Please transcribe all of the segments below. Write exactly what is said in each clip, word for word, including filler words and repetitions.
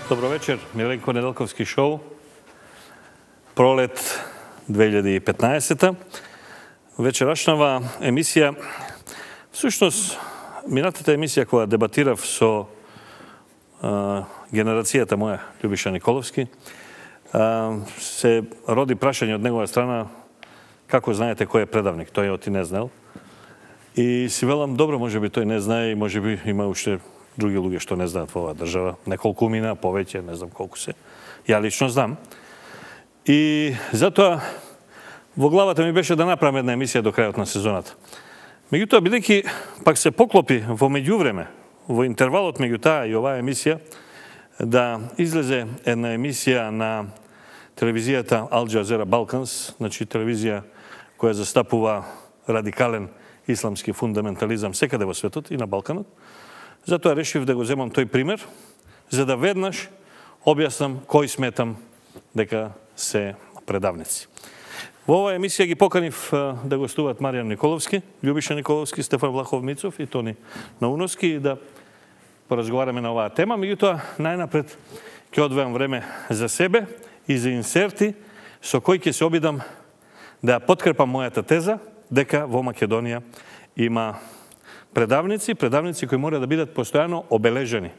Добро вечер, Миленко Неделковски шоу. Пролет две илјади и петнаесета. Вечерашнава емисија, всушност, минатата емисија која дебатирав со а, генерацијата моја, Љубиша Николовски, а, се роди прашање од негова страна како знаете кој е предавник, тој оти не знаел. И си велам, добро, може би тој не знае и може би има уште други луѓе што не знаат во оваа држава. Неколку мина, повеќе, не знам колку се. Ја лично знам. И затоа во главата ми беше да направам една емисија до крајот на сезоната. Меѓутоа, бидејќи пак се поклопи во меѓувреме, во интервалот меѓу таа и оваа емисија, да излезе една емисија на телевизијата Ал Джазера Балканс, значи телевизија која застапува радикален исламски фундаментализам секаде во светот и на Балканот. Затоа решив да го земам тој пример, за да веднаш објаснам кој сметам дека се предавници. Во оваа емисија ги поканив да гостуваат Маријан Николовски, Љубиша Николовски, Стефан Влахов Мицов и Тони Науновски и да поразговараме на оваа тема. Меѓутоа, најнапред ќе одвојам време за себе и за инсерти со кој ќе се обидам да подкрепам мојата теза дека во Македонија има предавници, предавници кои мора да бидат постојано обележени.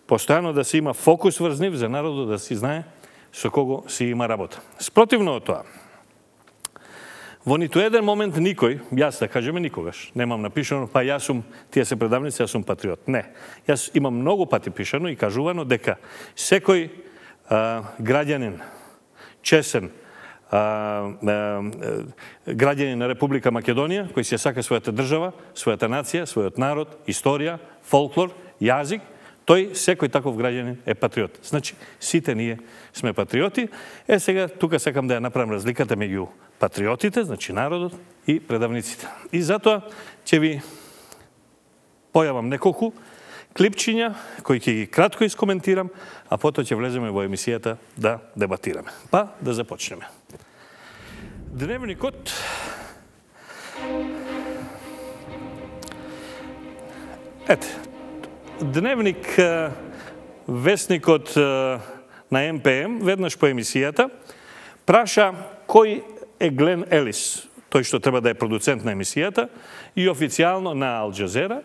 Постојано да се има фокус врз нив за народот да си знае со кого си има работа. Спротивно од тоа, во ниту еден момент никој, јас да кажеме никогаш, немам напишано, па јас сум, тие се предавници, јас сум патриот. Не. Јас имам многу пати пишано и кажувано дека секој а, граѓанин, чесен, А, а, граѓани на Република Македонија, кои се сака својата држава, својата нација, својот народ, историја, фолклор, јазик, тој, секој таков граѓанин е патриот. Значи, сите ние сме патриоти. Е, сега, тука сакам да ја направам разликата меѓу патриотите, значи народот, и предавниците. И затоа ќе ви појавам неколку клипчиња, кои ќе ги кратко искоментирам, а потоа ќе влеземе во емисијата да дебатираме. Па, да започнеме. Дневникот Ете, Дневник, вестникот на Ем Пе Ем, веднаш по емисијата, праша кој е Глен Елис, тој што треба да е продуцент на емисијата, и официјално на Ал Джазера,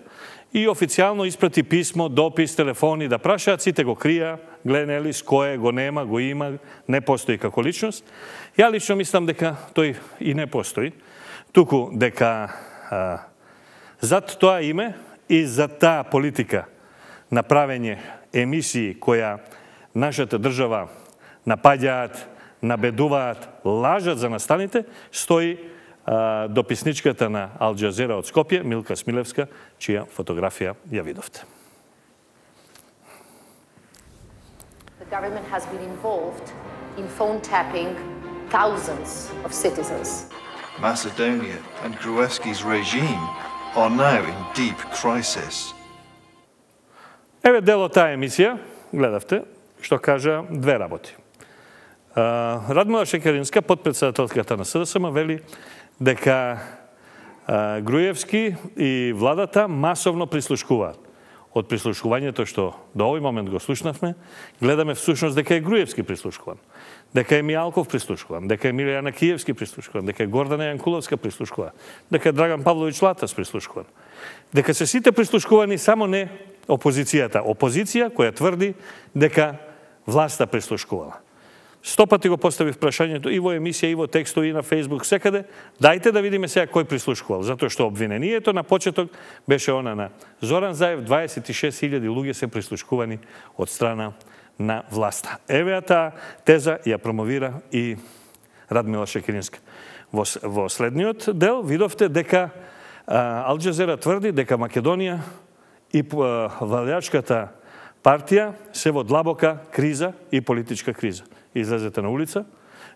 и официјално испрати писмо, допис, телефони да прашаат, сите го крија, Глен Елис, кој е, го нема, го има, не постои како личност. Ја лично мислам дека тој и не постои, туку дека а, зад тоа име и за таа политика на правење емисии која нашата држава напаѓаат, набедуваат, лажат за настаните, стои а, дописничката на Ал Джазера од Скопје, Милка Смилевска, чија фотографија ја видовте. The government has been involved in phone tapping thousands of citizens. Macedonia and Gruevski's regime are now in deep crisis. Еве дел од таа емисија, гледавте, што кажа две работи. Радмила Шекеринска, подпредседателката на С Д С М, вели дека Груевски и владата масовно прислушкуваат. Од прислушкувањето што до овој момент го слушнавме, гледаме всушност дека е Груевски прислушкуван, дека е Мијалков прислушкуван, дека е Милијана Киевски прислушкуван, дека е Гордана Јанкуловска прислушкувана, дека е Драган Павлович Латас прислушкуван. Дека се сите прислушкувани, само не опозицијата. Опозиција која тврди дека власта прислушкувала. Сто пати го поставив прашањето и во емисија, и во текстови, и на Фејсбук, секаде. Дајте да видиме сега кој прислушкувал, затоа што обвинението на почеток беше она на Зоран Заев, дваесет и шест илјади луѓе се прислушкувани од страна на власта. Еве таа теза ја промовира и Радмила Шекеринска. Во, во следниот дел видовте дека а, Ал Джазера тврди дека Македонија и а, владеачката партија се во длабока криза и политичка криза. Излезете на улица,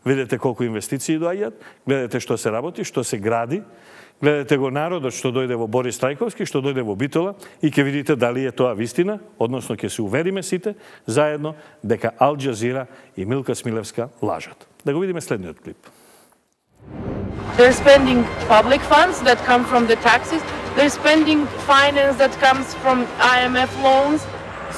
видите колку инвестиции доаѓаат, гледате што се работи, што се гради, гледате го народот што дојде во Борис Трајковски, што дојде во Битола и ќе видите дали е тоа вистина, односно ќе се увериме сите заедно дека Ал Джазира и Милка Смилевска лажат. Да го видиме следниот клип. They're spending public funds that come from the taxes. They're spending finance that comes from I M F loans.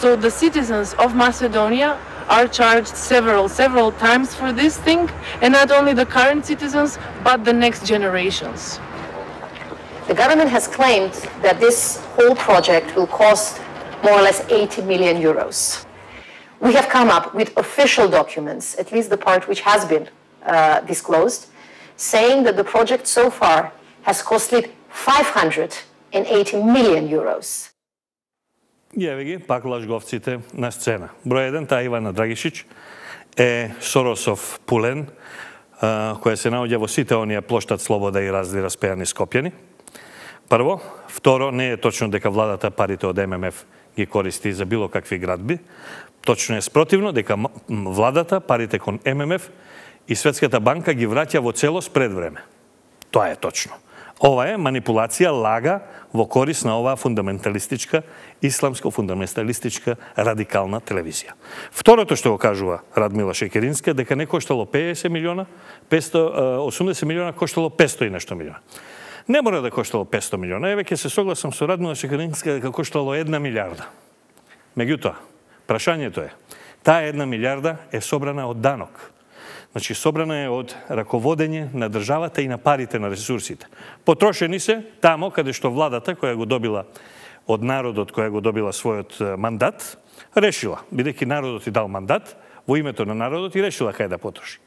So the citizens of Macedonia are charged several, several times for this thing, and not only the current citizens, but the next generations. The government has claimed that this whole project will cost more or less eighty million euros. We have come up with official documents, at least the part which has been uh, disclosed, saying that the project so far has costed five hundred eighty million euros. И еве ги, пак лажговците на сцена. Број еден, таа Ивана Драгишич, е Соросов пулен, која се наоѓа во сите оние плоштад Слобода и разни распејани Скопјани. Прво. Второ, не е точно дека владата парите од Ем Ем Еф ги користи за било какви градби. Точно е спротивно дека владата парите кон Ем Ем Еф и Светската банка ги враќа во целост пред време. Тоа е точно. Ова е манипулација, лага во корис на оваа фундаменталистичка, исламско-фундаменталистичка радикална телевизија. Второто што го кажува Радмила Шекеринска, дека не коштало песет милиона, петстотини и осумдесет милиона, коштало петстотини и нешто милиона. Не мора да коштало петстотини милиона, еве ќе се согласам со Радмила Шекеринска дека коштало една милиарда. Меѓутоа, прашањето е, таа една милиарда е собрана од данок. Значи, собрана е од раководење на државата и на парите на ресурсите. Потрошени се тамо каде што владата, која го добила од народот, која го добила својот мандат, решила, бидејќи народот и дал мандат, во името на народот и решила кај да потроши.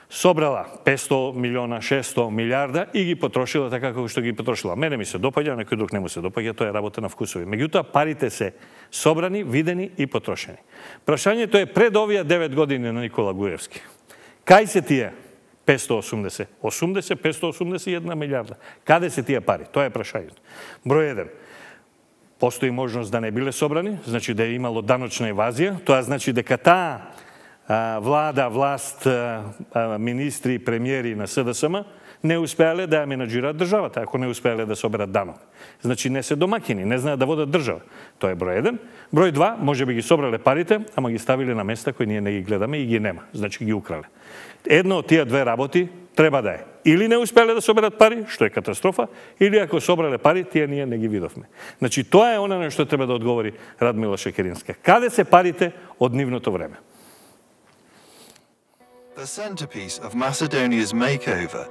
Собрала петстотини милиона, шестстотини милиарда и ги потрошила така како што ги потрошила. Мене ми се допаѓа, некој друг не му се допаѓа, тоа е работа на вкусови. Меѓутоа, парите се собрани, видени и потрошени. Прашањето е пред овие девет години на Никола Груевски. Кај се тие петстотини и осумдесет, осумдесет, петстотини и осумдесет и една милиарда? Каде се тие пари? Тоа е прашањето. Број еден. Постои можност да не биле собрани, значи да е имало даночна евазија, тоа значи дека таа влада, власт, министри, премиери на С Д С М не успеале да ја менаџираат државата, ако не успеале да соберат данок. Значи не се домакини, не знаат да водат држава. Тоа е број еден. Број два, може би ги собрале парите, ама ги ставиле на места кои ние не ги гледаме и ги нема. Значи ги украле. Едно од тие две работи треба да е. Или не успеале да соберат пари, што е катастрофа, или ако собрале пари, тие ние не ги видовме. Значи тоа е она на што треба да одговори Радмила Шекеринска. Каде се парите од нивното време? The centerpiece of Macedonia's makeover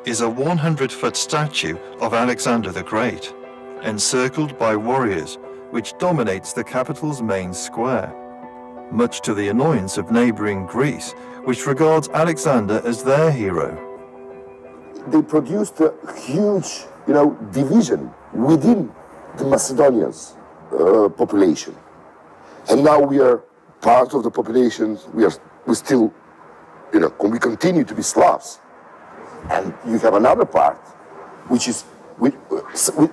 is a one hundred foot statue of Alexander the Great, encircled by warriors, which dominates the capital's main square, much to the annoyance of neighboring Greece, which regards Alexander as their hero. They produced a huge, you know, division within the Macedonians' uh, population. And now we are part of the population, we are we still, you know, we continue to be Slavs. And you have another part, which is which,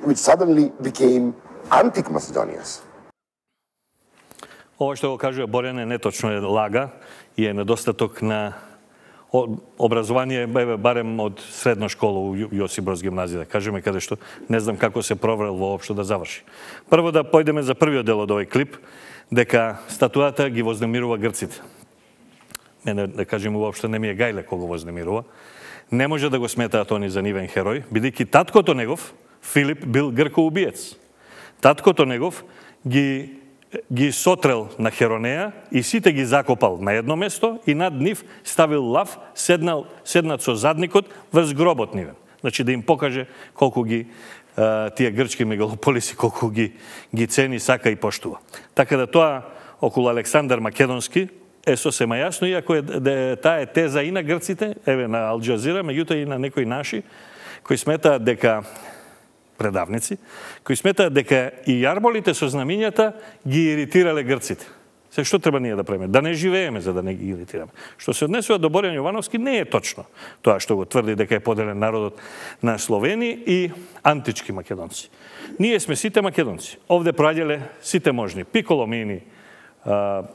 which suddenly became anti-Macedonians. Ова што го кажува Борјан е неточно, е лага и е недостаток на образование, барем од средна школа у Јосип Броз гимназија, да кажеме, каде што не знам како се проврел воопшто да заврши. Прво да појдеме за првиот дел од овој клип, дека статуата ги вознемирува грците. Мене, да кажем, уопшто не ми е гајле кога вознемирува. Не може да го сметаат они за нивен херој, бидејќи таткото негов, Филип, бил гркоубиец. Таткото негов ги ги сотрел на Херонеја и сите ги закопал на едно место и над нив ставил лав, седнал, седнат со задникот врз гробот нивен. Значи да им покаже колку ги а, тие грчки мегалополиси, колку ги, ги цени, сака и поштува. Така да тоа околу Александар Македонски е сосема јасно, иако е, де, таа е теза и на грците, еве на Ал Џазира, меѓутоа и на некои наши, кои сметаат дека предавници, кои сметаат дека и јарболите со знамињата ги иритирале грците. Се што треба ние да правиме? Да не живееме за да не ги иритираме. Што се однесува до Борјан Јовановски, не е точно тоа што го тврди дека е поделен народот на Словени и антички македонци. Ние сме сите македонци. Овде проаѓале сите можни. Пиколомини,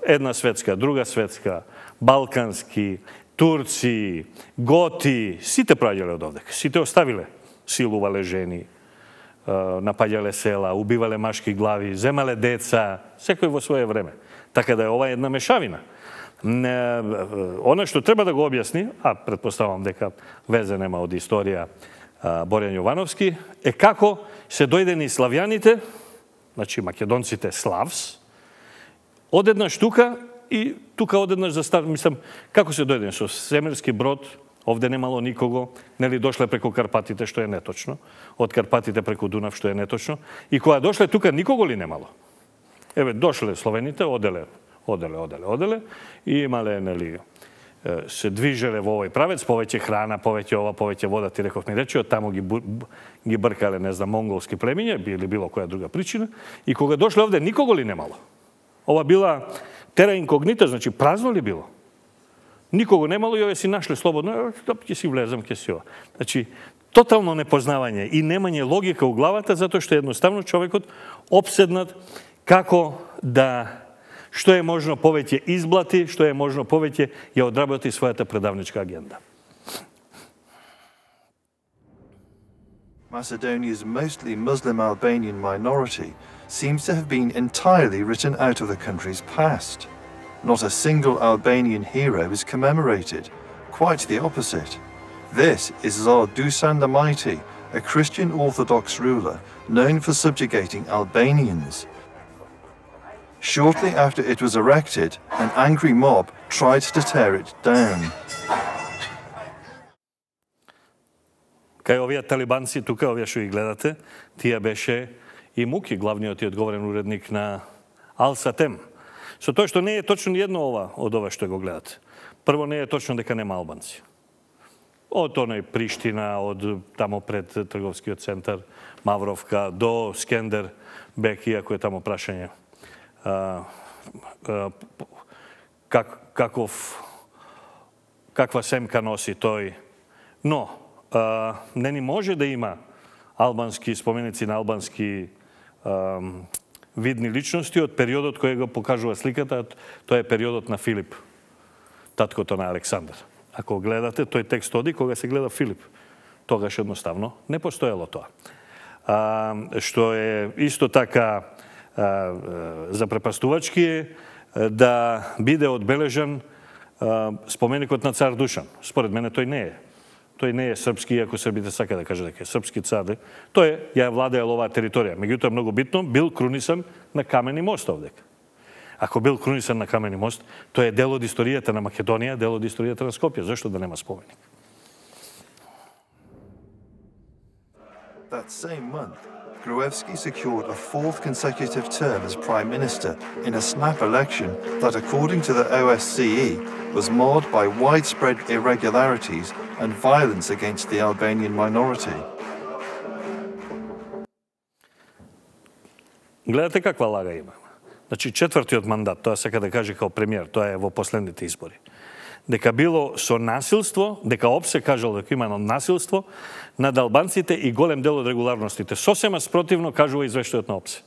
една светска, друга светска, балкански, турци, готи, сите проаѓале од овде. Сите оставиле, силувале жени, напаѓале села, убивале машки глави, земале деца, секој во свое време. Така да е ова една мешавина. Она што треба да го објасни, а предпоставам дека везе нема од историја Борјан Јовановски, е како се дојдени славјаните, значи македонците славс, одеднаш тука и тука одеднаш за стар, мислам, како се дојде со свемирски брод, овде немало никого, нели дошле преку Карпатите, што е неточно, од Карпатите преку Дунав, што е неточно, и кога дошле тука никого ли немало? Еве, дошле словените, оделе, оделе, оделе, оделе, и имале, нели, се движеле во овој правец, повеќе храна, повеќе ова, повеќе вода, ти реков ми речи, од таму ги, ги бркале, не знам, монголски племиња, или било која друга причина, и кога дошле овде никого ли немало? Ова била тера инкогнита, значи празно ли било? Никого немало и ове си нашле слободно, ќе си влезам, ќе си ова. Значи, тотално непознавање и немање логика у главата, затоа што едноставно човекот обседнат како да што е можно повеќе изблати, што е можно повеќе ја одработи својата предавничка агенда. Macedonia's mostly Muslim Albanian minority seems to have been entirely written out of the country's past. Not a single Albanian hero is commemorated, quite the opposite. This is Tsar Dusan the Mighty, a Christian Orthodox ruler known for subjugating Albanians. Shortly after it was erected, an angry mob tried to tear it down. Кај овие талибанци, тука овие што ги гледате, тие беше и Муки, главниот и одговорен уредник на Ал-Сатем. Со тоа што не е точно едно ова од ова што го гледате. Прво, не е точно дека нема албанци. Од оној Приштина, од тамо пред трговскиот центар Мавровка до Скендер Бек, иако е тамо прашање а, а, как, каков каква семка носи тој. Но а, не ни може да има албански споменици на албански а, видни личности од периодот кој го покажува сликата, тоа е периодот на Филип, таткото на Александар. Ако гледате, тој текст оди кога се гледа Филип. Тогаш едноставно не постоело тоа. А, што е исто така а, запрепастувачки е да биде одбележан а, споменикот на цар Душан. Според мене тој не е. Тој не е српски, иако србите сака да каже дека е српски цар. Тој ја владеел оваа територија. Меѓутоа, многу битно, бил крунисан на камени мост овдека. Ако бил крунисан на камени мост, тој е дел од историјата на Македонија, дел од историјата на Скопје. Зошто да нема споменик? That same month, Gruevski secured a fourth consecutive term as Prime Minister in a snap election that, according to the O S C E, was marred by widespread irregularities and violence against the Albanian minority. Гледате каква лага има. Значи, четвртиот мандат, тоа сака да каже као премиер, тоа е во последните избори. Дека било со насилство, дека ОПСЕ кажал дека има насилство над албанците и голем дел од регуларностите. Сосема спротивно кажува извештајот на ОПСЕ.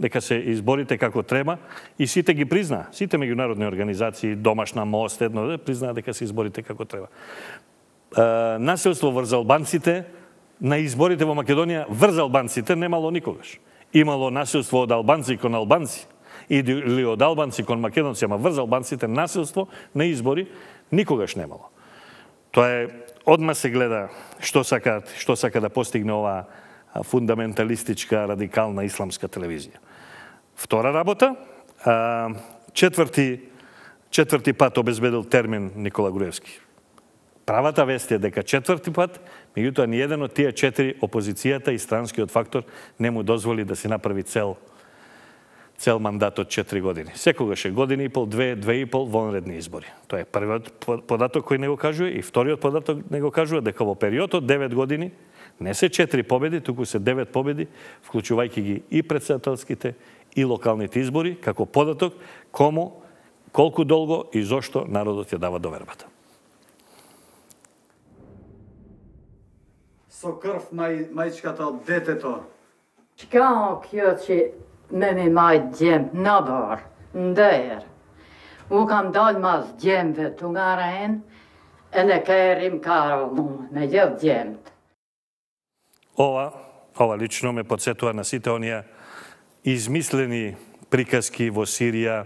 Дека се изборите како треба и сите ги призна, сите меѓународни организации, Домашна мост, едно, признаа дека се изборите како треба. Uh, насилство врз албанците на изборите во Македонија врз албанците немало никогаш. Имало насилство од албанци кон албанци или од албанци кон македонци, ама врз албанците насилство на избори никогаш немало. Тоа е, одма се гледа што сака, што сака да постигне оваа фундаменталистичка, радикална исламска телевизија. Втора работа, четврти, четврти пат обезбедил термин Никола Груевски. Правата вест е дека четврти пат, меѓутоа ни еден од тие четири опозицијата и странскиот фактор не му дозволи да си направи цел цел мандат од четири години. Секогаш е година и пол, две, две и пол вонредни избори. Тоа е првиот податок кој не го кажува и вториот податок не го кажува дека во период од девет години не се четири победи, туку се девет победи, вклучувајќи ги и претседателските и локалните избори, како податок кому, колку долго и зошто народот ја дава довербата. Со крв мај, мајчката од детето. Shka kjo që me mi majt gjemë në barë, ndër. U kam dalë mas gjemëve të nga rejnë, e në kajrim karo mu, me gjithë gjemët. Ова, ова лично ме подсетува на сите оние измислени приказки во Сирија,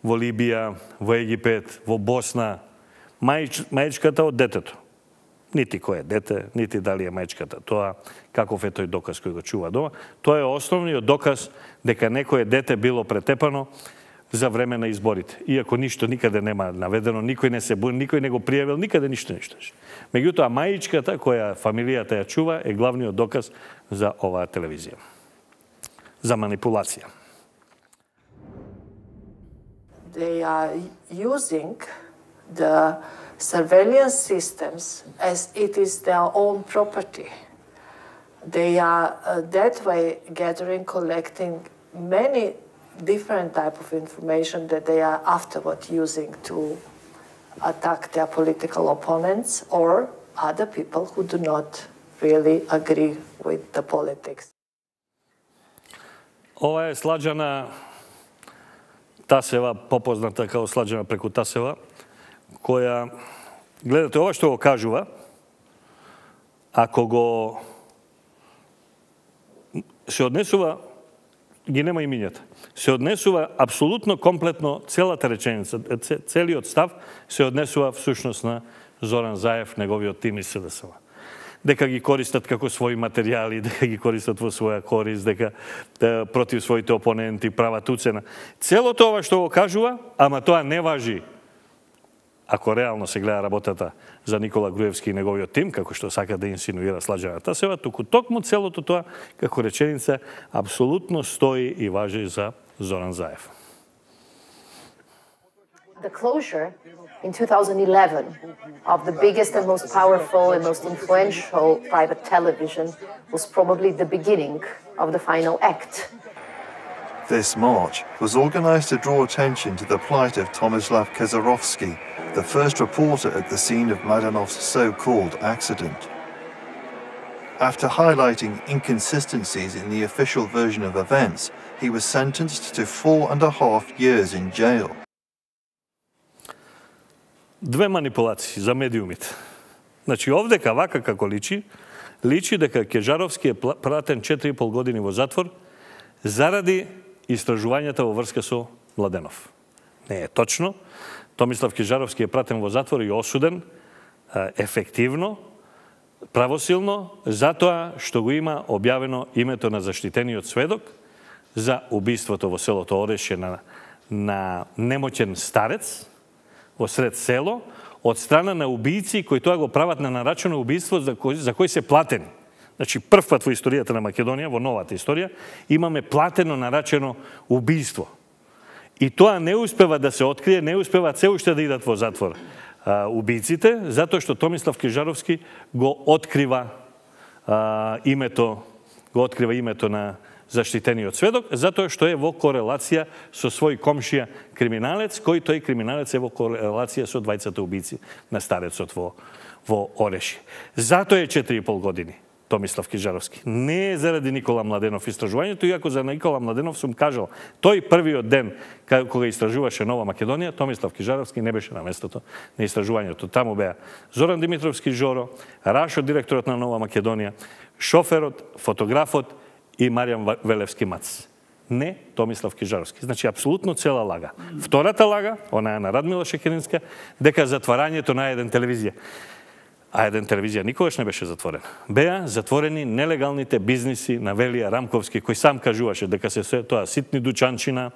во Либија, во Египет, во Босна. Мајч, мајчката од детето. Нити кој е дете, нити дали е мајчката. Тоа, каков е тој доказ кој го чува дома, тоа е основниот доказ дека некое дете било претепано за време на изборите. Иако ништо никаде нема наведено, никој не се никој не го пријавил, никаде ништо ништо. Меѓутоа, мајичката која фамилијата ја чува е главниот доказ за оваа телевизија. За манипулација. They are using the surveillance systems as it is their own property. They are uh, that way gathering, collecting many different type of information that they are afterward using to attack their political opponents or other people who do not really agree with the politics. Ова е Сладжана Тасева, попозната како Сладжана преку Тасева, која, гледате, ова што го кажува, ако го се однесува, ги нема имињата, се однесува апсолутно комплетно целата реченица, целиот став се однесува всушност на Зоран Заев, неговиот тим и СДСМ. Дека ги користат како своји материјали, дека ги користат во своја корист, дека да, против своите опоненти прават уцена. Целото ова што го кажува, ама тоа не важи ако реално се гледа работата за Никола Груевски и неговиот тим, како што сака да инсинуира Сладжана Тасева, туку токму целото тоа како реченица апсолутно стои и важи за Зоран Заев. The closure in two thousand eleven of the biggest and most powerful and most influential private television was probably the beginning of the final act. This march was organized to draw attention to the plight of Tomislav Kezarovsky, the first reporter at the scene of Mladenov's so-called accident. After highlighting inconsistencies in the official version of events, he was sentenced to four and a half years in jail. Две манипулации за медиумите. Значи, овдека вака како личи, личи дека Кежаровски е пратен четири и пол години во затвор заради истражувањата во врска со Младенов. Не е точно. Томислав Кежаровски е пратен во затвор и осуден ефективно, правосилно, затоа што го има објавено името на заштитениот сведок за убиството во селото Орешје на, на немоќен старец во сред село, од страна на убијци кои тоа го прават на нарачено убиство за кој, за кој се платени. Значи, прв пат во историјата на Македонија, во новата историја, имаме платено нарачено убиство. И тоа не успева да се открие, не успева се уште да идат во затвор а, убијците, затоа што Томислав Кежаровски го открива а, името, го открива името на заштитениот сведок, затоа што е во корелација со свој комшија криминалец, кој тој криминалец е во корелација со двајцата убијци на старецот во, во Орешје. Затоа е четири и пол години Томислав Кежаровски. Не е заради Никола Младенов истражувањето, иако за Никола Младенов сум кажал, тој првиот ден кога истражуваше Нова Македонија, Томислав Кежаровски не беше на местото на истражувањето. Таму беа Зоран Димитровски Жоро, Рашо, директорот на Нова Македонија, шоферот, фотографот и Маријан Велевски Мац. Не Томислав Кежаровски. Значи, апсолутно цела лага. Втората лага, она е на Радмила Шекеринска, дека затварањето на еден телевизија. А еден телевизија никогаш не беше затворена. Беа затворени нелегалните бизниси на Велија Рамковски, кој сам кажуваше дека се, се тоа ситни дучанчина,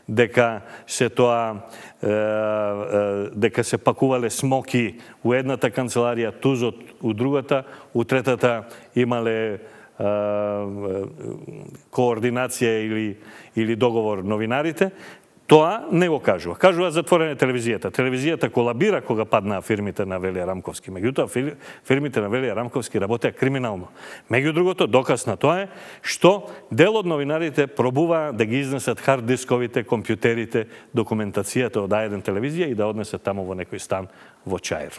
дека се тоа е, е, дека се пакувале смоки у едната канцеларија, тузот у другата, у третата имале координација или, или договор новинарите, тоа не го кажува. Кажува затворене телевизијата. Телевизијата колабира кога паднаа фирмите на Велија Рамковски. Меѓутоа, фирмите на Велија Рамковски работеа криминално. Меѓу другото, доказ на тоа е што дел од новинарите пробува да ги изнесат хард дисковите, компјутерите, документацијата од А еден телевизија и да однесат таму во некој стан во Чаир.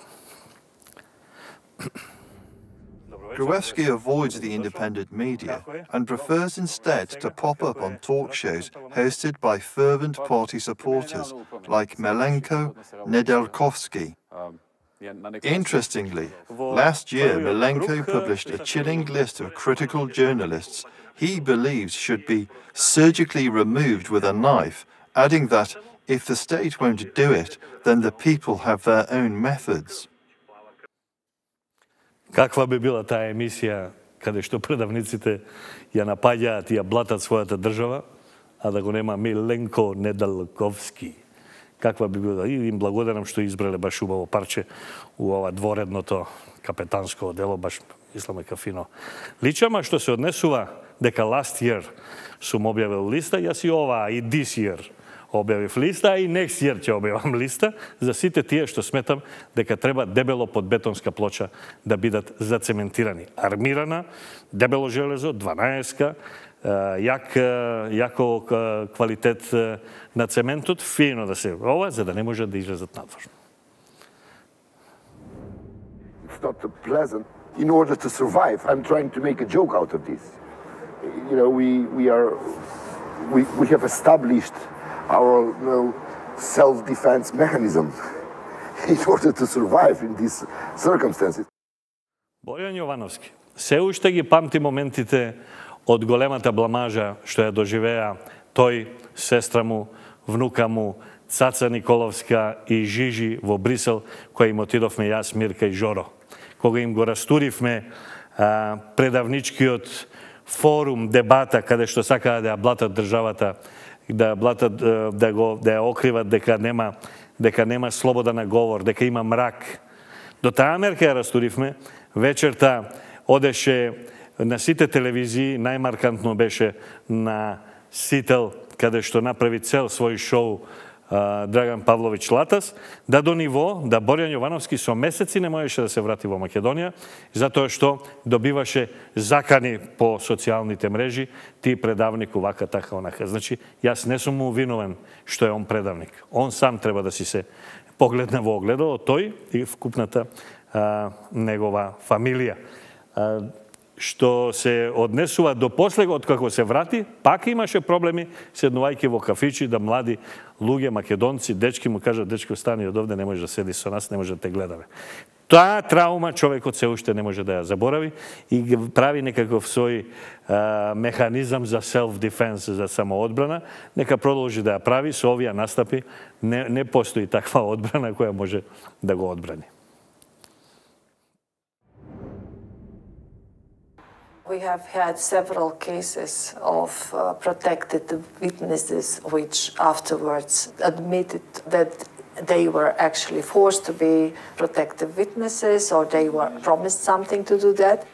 Gruevski avoids the independent media and prefers instead to pop up on talk shows hosted by fervent party supporters like Milenko Nedelkovsky. Interestingly, last year Milenko published a chilling list of critical journalists he believes should be surgically removed with a knife, adding that if the state won't do it, then the people have their own methods. Каква би била таа емисија каде што предавниците ја напаѓаат и ја блатат својата држава, а да го нема Миленко Недалковски. Каква би била, и им благодарам што избрале баш убаво парче у ова дворедното капетанско дело, баш мислам дека фино личама. Што се однесува дека last year сум објавил листа, јас и ова и this year објавив листа, и next year ќе објавам листа за сите тие што сметам дека треба дебело под бетонска плоча да бидат зацементирани. Армирана, дебело железо, дванаесетка, јак, јако квалитет на цементот, фино да се ова, за да не може да излезат надвор. It's not pleasant. In order to survive, I'm trying to make a joke out of this. You know, we we are we we have established our you know, self-defense mechanism in order to survive in these circumstances. Бојан Јовановски, се уште ги памти моментите од големата бламажа што ја доживеа тој, сестра му, внука му, Цаца Николовска и Жижи во Брисел, која им отидовме јас, Мирка и Жоро. Кога им го растуривме а, предавничкиот форум, дебата, каде што сакаа да ја блатат државата, да блатат, да го да ја окриват дека нема дека нема слобода на говор, дека има мрак. До таа мерка ја растуривме. Вечерта одеше на сите телевизии, најмаркантно беше на Сител, каде што направи цел свој шоу Драган Павлович Латас, да до ниво да Бојан Јовановски со месеци не можеше да се врати во Македонија, затоа што добиваше закани по социјалните мрежи, ти предавник овака, така, онака. Значи, јас не сум му виновен што е он предавник. Он сам треба да си се погледне во огледало, тој и вкупната а, негова фамилија. А, што се однесува до после, од како се врати, пак имаше проблеми, седнувајќи во кафичи, да млади луѓе, македонци, дечки му кажат, дечко, стани од овде, не може да седи со нас, не може да те гледаме. Таа траума човекот се уште не може да ја заборави и ги прави некаков свој а, механизам за self-defense, за самоодбрана, нека продолжи да ја прави, со овие настапи не, не постои таква одбрана која може да го одбрани. We have had several cases of uh, protected witnesses which afterwards admitted that they were actually forced to be protected witnesses or they were promised something to do that.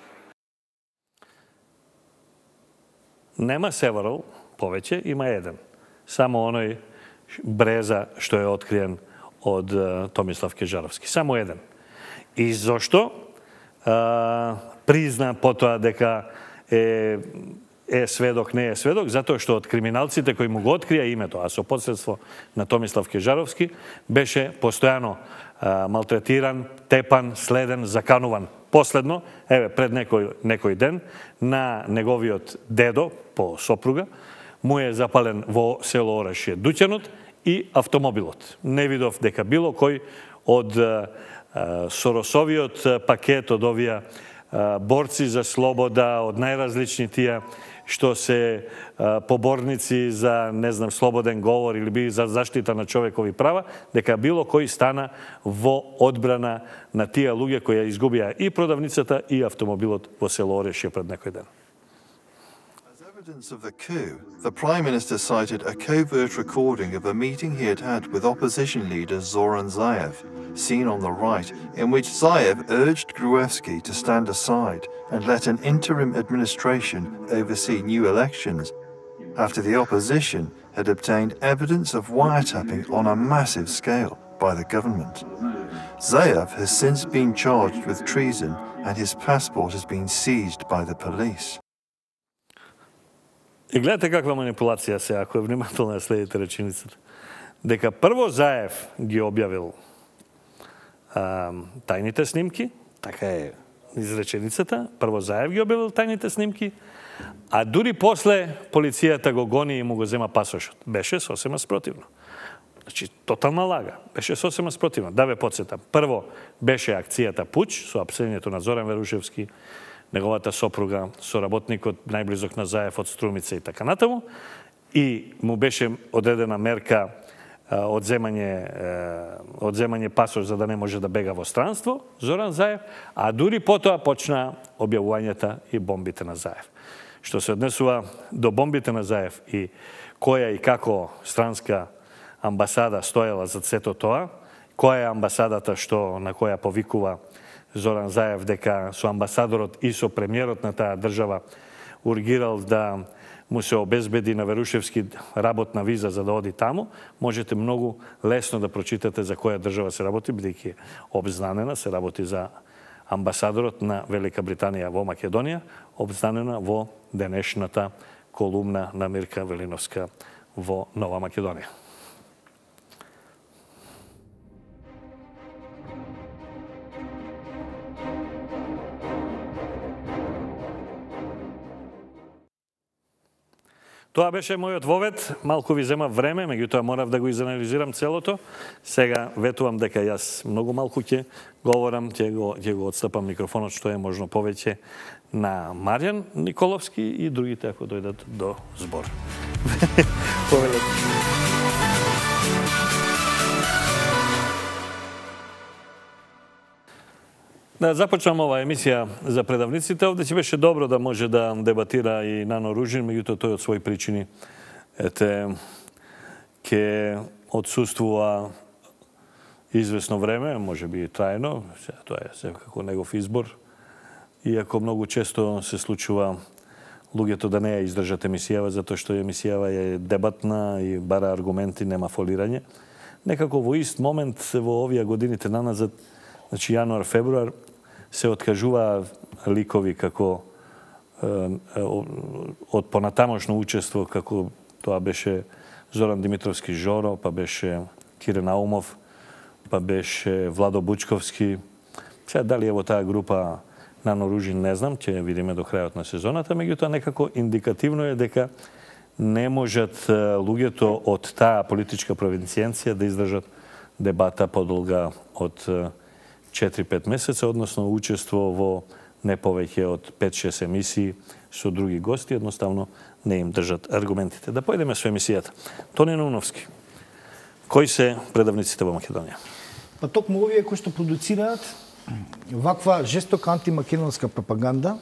Нема several, повеќе, има еден. Само оној Бреза што е откриен од uh, Томислав Кежаровски. Само еден. И зошто? Uh, призна потоа дека е, е сведок, не е сведок, затоа што од криминалците кои му го открија името, а со посредство на Томислав Кежаровски, беше постојано а, малтретиран, тепан, следен, закануван. Последно, еве, пред некој, некој ден, на неговиот дедо, по сопруга, му е запален во село Орашје дуќанот и автомобилот. Не видов дека било кој од а, Соросовиот пакет, од овие борци за слобода, од најразлични тие што се поборници за, не знам, слободен говор или би за заштита на човекови права, дека било кој стана во одбрана на тие луѓе кои ја изгубија и продавницата и автомобилот во село Орешје пред некој ден. As evidence of the coup, the Prime Minister cited a covert recording of a meeting he had had with opposition leader Zoran Zaev, seen on the right, in which Zaev urged Gruevski to stand aside and let an interim administration oversee new elections, after the opposition had obtained evidence of wiretapping on a massive scale by the government. Zaev has since been charged with treason and his passport has been seized by the police. И гледате каква манипулација се, ако е внимателно ја следите реченицата. Дека прво Заев ги објавил а, тајните снимки, така е изреченицата, прво Заев ги објавил тајните снимки, а дури после полицијата го гони и му го зема пасошот. Беше сосема спротивно. Значи, тотална лага. Беше сосема спротивно. Да ве подсетам. Прво беше акцијата Пуч, со апсењето на Зоран Верушевски, неговата сопруга, соработникот најблизок на Заев од Струмица и така натаму, и му беше одредена мерка одземање, одземање пасош за да не може да бега во странство, Зоран Заев, а дури потоа почна објавувањата и бомбите на Заев. Што се однесува до бомбите на Заев и која и како странска амбасада стоела за сето тоа, која е амбасадата што на која повикува Зоран Заев дека со амбасадорот и со премиерот на таа држава ургирал да му се обезбеди на Верушевски работна виза за да оди таму, можете многу лесно да прочитате за која држава се работи, бидејќи обзнанена се работи за амбасадорот на Велика Британија во Македонија, обзнанена во денешната колумна на Мирка Велиновска во Нова Македонија. Тоа беше мојот вовет, малку ви зема време, меѓутоа морав да го изанализирам целото. Сега ветувам дека јас многу малку ќе говорам, ќе го, ќе го отстапам микрофонот што е можно повеќе на Маријан Николовски и другите ако дојдат до збор. Да започнам оваа емисија за предавниците. Овде ќе беше добро да може да дебатира и Нано Ружин, меѓутоа тој од своји причини ете ќе отсуствува известно време, може би и трајно, тоа е секако негов избор. Иако многу често се случува луѓето да не ја издржат емисијава, затоа што емисијава е дебатна и бара аргументи, нема фолирање. Некако во ист момент во овие годините наназад, значи јануар, февруар, се откажува ликови како е, од понатамошно учество, како тоа беше Зоран Димитровски Жоро, па беше Кирен Аумов, па беше Владо Бучковски. Сега дали е во таа група Нано Ружин, не знам, ќе видиме до крајот на сезоната, меѓутоа некако индикативно е дека не можат луѓето од таа политичка провинцијенција да издржат дебата подолга од четири-пет месеца, односно учество во не повеќе од пет-шест емисии со други гости, едноставно не им држат аргументите. Да појдеме со емисијата. Тони Нуновски, кои се предавниците во Македонија? Па токму овие кои што продуцираат ваква жестока антимакедонска пропаганда,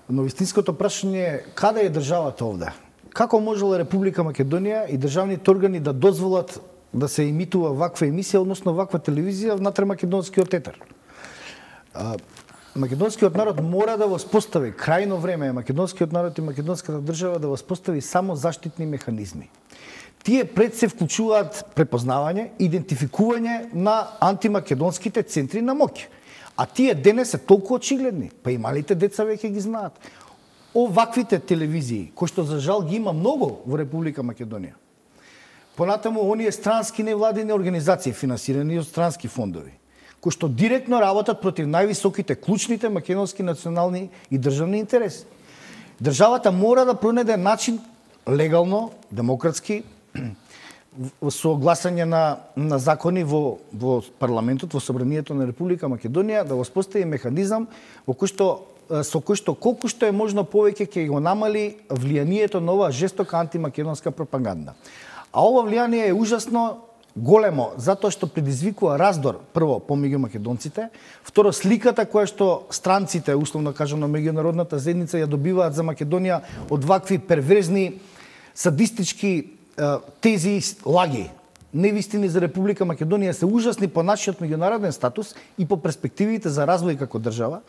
но вистинското прашање е каде е државата овде? Како можела Република Македонија и државните органи да дозволат да се емитува ваква емисија, односно ваква телевизија внатре македонскиот етер? Македонскиот народ мора да воспостави, крајно време е македонскиот народ и македонската држава да воспостави само заштитни механизми. Тие пред се вклучуваат препознавање, идентификување на антимакедонските центри на моќ. А тие денес се толку очигледни, па и малите деца веќе ги знаат. Оваквите телевизии, кои што за жал ги има многу во Република Македонија, понатаму оние странски невладини организации, финансирани од странски фондови, кои што директно работат против највисоките, клучните македонски национални и државни интереси. Државата мора да пронајде начин легално, демократски, со гласање на, на закони во, во парламентот, во собранието на Република Македонија, да воспостави механизам во кој што со кој што колку што е можно повеќе ќе го намали влијанието на оваа жестока антимакедонска пропаганда. А ова влијание е ужасно големо, затоа што предизвикува раздор, прво, помеѓу македонците, второ, сликата која што странците, условно кажано, меѓународната заедница ја добиваат за Македонија од вакви перверзни, садистички тези лаги, невистини за Република Македонија се ужасни по нашиот меѓународен статус и по перспективите за развој како држава.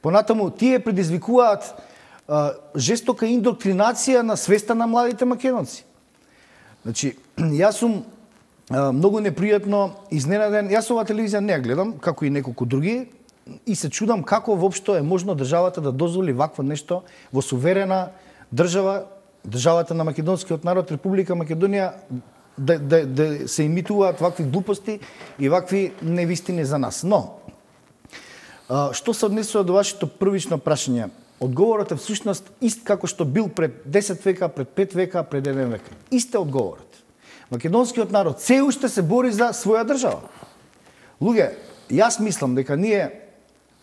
Понатаму, тие предизвикуваат а, жестока индоктринација на свеста на младите македонци. Значи, јас сум а, многу непријатно изненаден. Јас оваа телевизија не ја гледам, како и неколку други, и се чудам како воопшто е можно државата да дозволи вакво нешто во суверена држава, државата на македонскиот народ, Република Македонија, да, да, да се имитуваат вакви глупости и вакви невистини за нас. Но, а, што се однесува до вашето првично прашање? Одговорот е всушност ист како што бил пред десет века, пред пет века, пред еден век. Ист е одговорот. Македонскиот народ се уште се бори за своја држава. Луѓе, јас мислам дека ние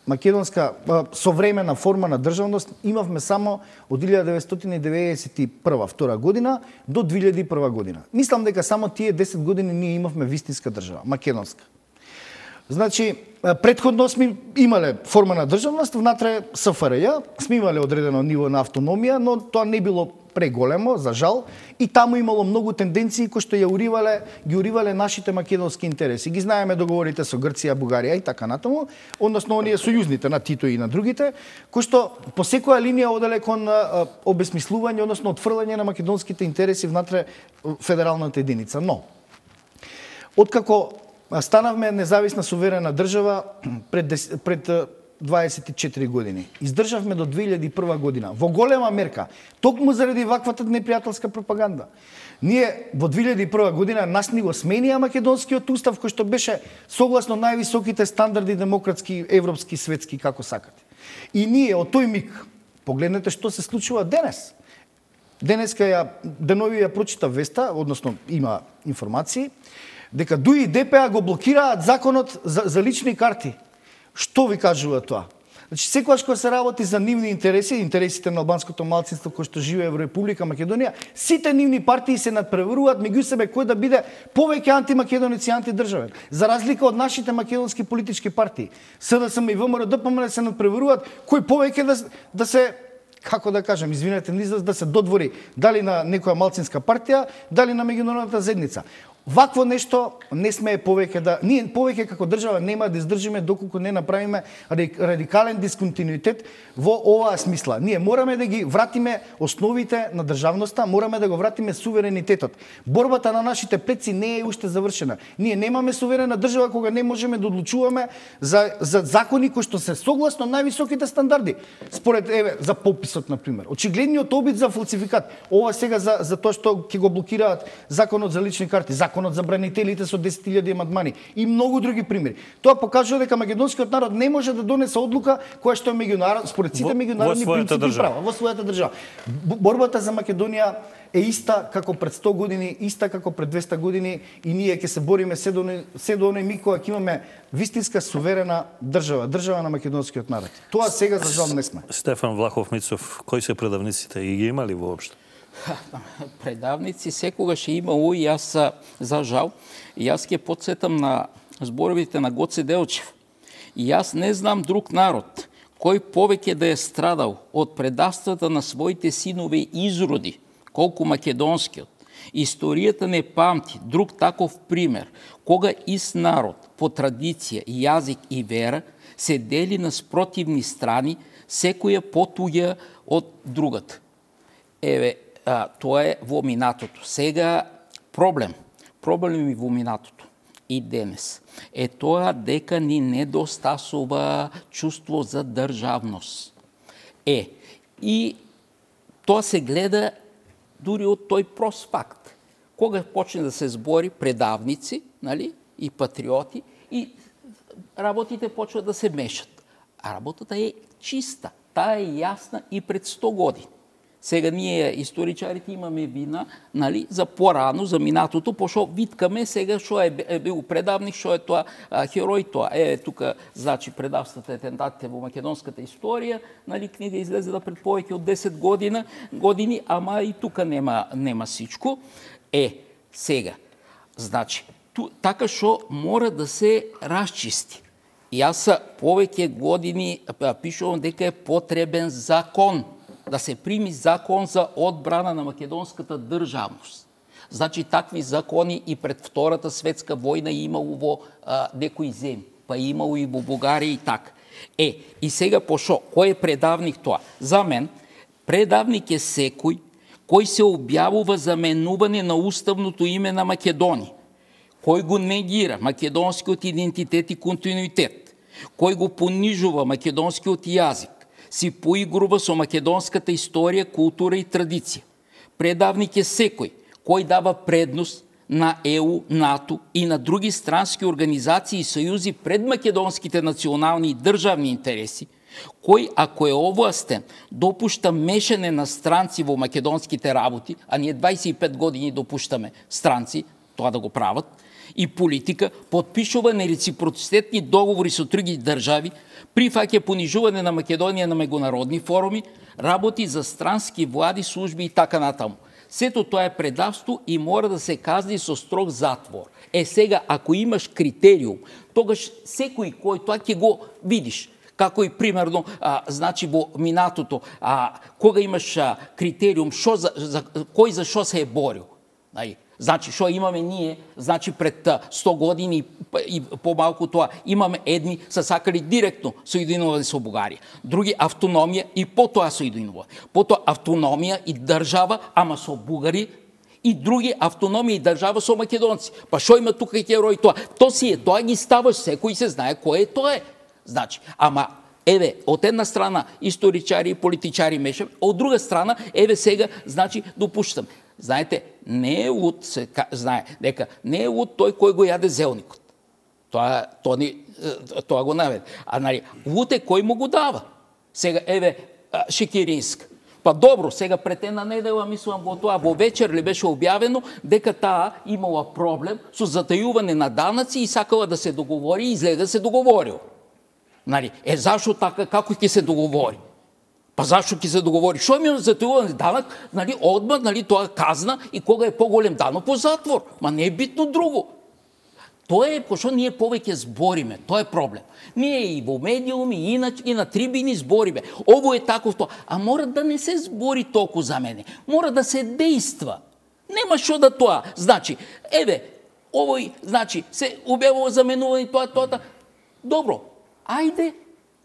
македонска современа форма на државност имавме само од илјада деветстотини деветдесет и прва втора година до две илјади и прва година. Мислам дека само тие десет години ние имавме вистинска држава, македонска. Значи, претходно сме имале форма на државност, внатре С Ф Р Ј, сме имале одредено ниво на автономија, но тоа не било преголемо, за жал, и таму имало многу тенденции кои што ја уривале, ги уривале нашите македонски интереси. Ги знаеме договорите со Грција, Бугарија и така натаму, односно оние сојузните на Тито и на другите, кои што по секоја линија оделе кон обесмислување, односно отфрлање на македонските интереси внатре федералната единица. Но, откако станавме независна суверена држава пред, пред дваесет и четири години. Издржавме до две илјади и прва година во голема мерка, токму заради ваквата непријателска пропаганда. Ние во две илјади и прва година нас ни го сменија македонскиот устав кој што беше согласно највисоките стандарди демократски, европски, светски, како сакате. И ние од тој миг, погледнете што се случува денес. Денеска ја денови ја прочита веста, односно има информации, дека ДУИ и Д П А го блокираат законот за, за лични карти. Што ви кажува тоа? Значи, секогаш кога се работи за нивни интереси, интересите на албанското малцинство кој што живее во Република Македонија, сите нивни партии се надпреваруваат меѓу себе кој да биде повеќе антимакедонец и антидржавен. За разлика од нашите македонски политички партии, С Д С М и В М Р Д П М Н се надпреваруваат кој повеќе да, да се, како да кажем, извинете, да се додвори дали на некоја малцинска партија, дали на меѓународната заедница. Вакво нешто не смее повеќе да... Ние повеќе како држава нема да издржиме доколку не направиме радикален дисконтинуитет во оваа смисла. Ние мораме да ги вратиме основите на државноста, мораме да го вратиме суверенитетот. Борбата на нашите предци не е уште завршена. Ние немаме суверена држава кога не можеме да одлучуваме за, за закони кои што се согласно највисоките стандарди. Според, еве, за пописот, например. Очигледниот обид за фалсификат. Ова сега за, за тоа што ќе го блокираат законот за лични карти, законот за бранителите со десет илјади амандмани и многу други примери. Тоа покажува дека македонскиот народ не може да донесе одлука која што е меѓународ, според сите меѓународни принципи и права во својата држава. Борбата за Македонија е иста како пред сто години, иста како пред двесте години и ние ќе се бориме се до се до оној миг кога ќе имаме вистинска суверена држава, држава на македонскиот народ. Тоа сега за жал не сме. Стефан Влахов Мицов, кои се предавниците и ги имали воопшто? Предавници секогаш е имало и јас, за жал, јас ќе подсетам на зборовите на Гоце Делчев. И јас не знам друг народ кој повеќе да е страдал од предавствата на своите синови изроди, колку македонскиот. Историјата не памти друг таков пример, кога ист народ по традиција, јазик и вера се дели на спротивни страни, секоја потуѓа од другата. Еве, А, тоа е во минатото. Сега проблем, проблем и во минатото и денес е тоа дека ни недостасува чувство за државност. Е, и тоа се гледа дури од тој прост факт. Кога почне да се збори предавници, нали, и патриоти, и работите почват да се мешат. А работата е чиста, таа е јасна и пред сто години. Сега ние, историчарите, имаме вина, нали, за порано, за минатото, пошто виткаме сега што е, е бил предавник, што е тоа а, херој тоа. Е, тука, значи, предавствата и атентатите во македонската историја, нали, книга излезе да пред повеќе од десет година, години, ама и тука нема, нема сичко. Е, сега, значи, ту, така што мора да се расчисти. Јас повеќе години пишувам дека е потребен закон, да се прими закон за одбрана на македонската државност. Значи, такви закони и пред Втората светска војна имало во а, некои земји, па имало и во Бугарија и така. Е, и сега пошо, кој е предавник тоа? За мен, предавник е секој кој се објавува заменување на уставното име на Македонија, кој го негира македонскиот идентитет и континуитет, кој го понижува македонскиот јазик, си поигрува со македонската историја, култура и традиција. Предавник е секој кој дава предност на Е У, НАТО и на други странски организации и сојузи пред македонските национални и државни интереси, кој, ако е овластен, допушта мешање на странци во македонските работи, а ние дваесет и пет години допуштаме странци тоа да го прават, и политика, подпишува нереципроцитетни договори со други држави, прифаќа понижување на Македонија на меѓународни форуми, работи за странски влади, служби и така натаму. Сето тоа е предавство и мора да се казни со строг затвор. Е сега, ако имаш критериум, тогаш секој кој тоа ќе го видиш. Како и примерно, а, значи во минатото, а, кога имаш а, критериум, шо за, за, кој за шо се е борил. Нај, значи, шо имаме ние, значи пред сто години и помалку тоа, имаме едни са сакали директно соединувани со Бугарија, други автономија и потоа соединувани. Потоа автономија и држава, ама со бугари, и други автономија и држава со македонци. Па шо има тука херој тоа? То си е, тоа ги ставаш, секој се знае кој е тоа е. Значи, ама еве, од една страна историчари и политичари мешаме, од друга страна, еве сега, значи, допуштам. Знаете, не е луд, се знае, дека не е луд тој кој го јаде зелникот. Тоа, тоа, ни, тоа го наведе. А нали, луд е кој му го дава. Сега, еве, Шекеринска. Па добро, сега пред една недела, мислам, во тоа, во вечер ли беше објавено дека таа имала проблем со затајување на данъци и сакала да се договори и изгледа да се договорил. Нали, е зашо така, како ќе се договори? Па зашо ќе се договори? Шо ми затајуване данък, нали, одма, нали, тоа казна и кога е поголем данък по затвор. Ма не е битно друго. Тоа е пошто ние повеќе збориме, тоа е проблем. Ние и во медиуми, и на, и на трибини збориме. Ово е таков тоа. А мора да не се збори толку за мене. Мора да се дејства. Нема шо да тоа. Значи, еве, овој, значи, се објавува заменување тоа, тоа, тоа. Добро, ајде,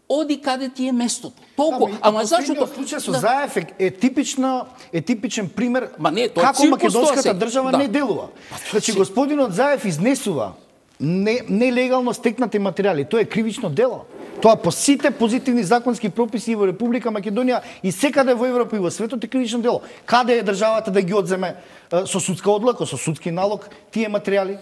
оди каде ти е местото. Толку, да, ама зашто тоа? Случај со Заев е, е типична е типичен пример Ма не, тоа како македонската држава да. не делува. Значи господинот Заев изнесува не, нелегално стекнати материјали. Тоа е кривично дело. Тоа по сите позитивни законски прописи во Република Македонија и секаде во Европа и во светот е кривично дело. Каде е државата да ги одземе со судска одлука, со судски налог тие материјали?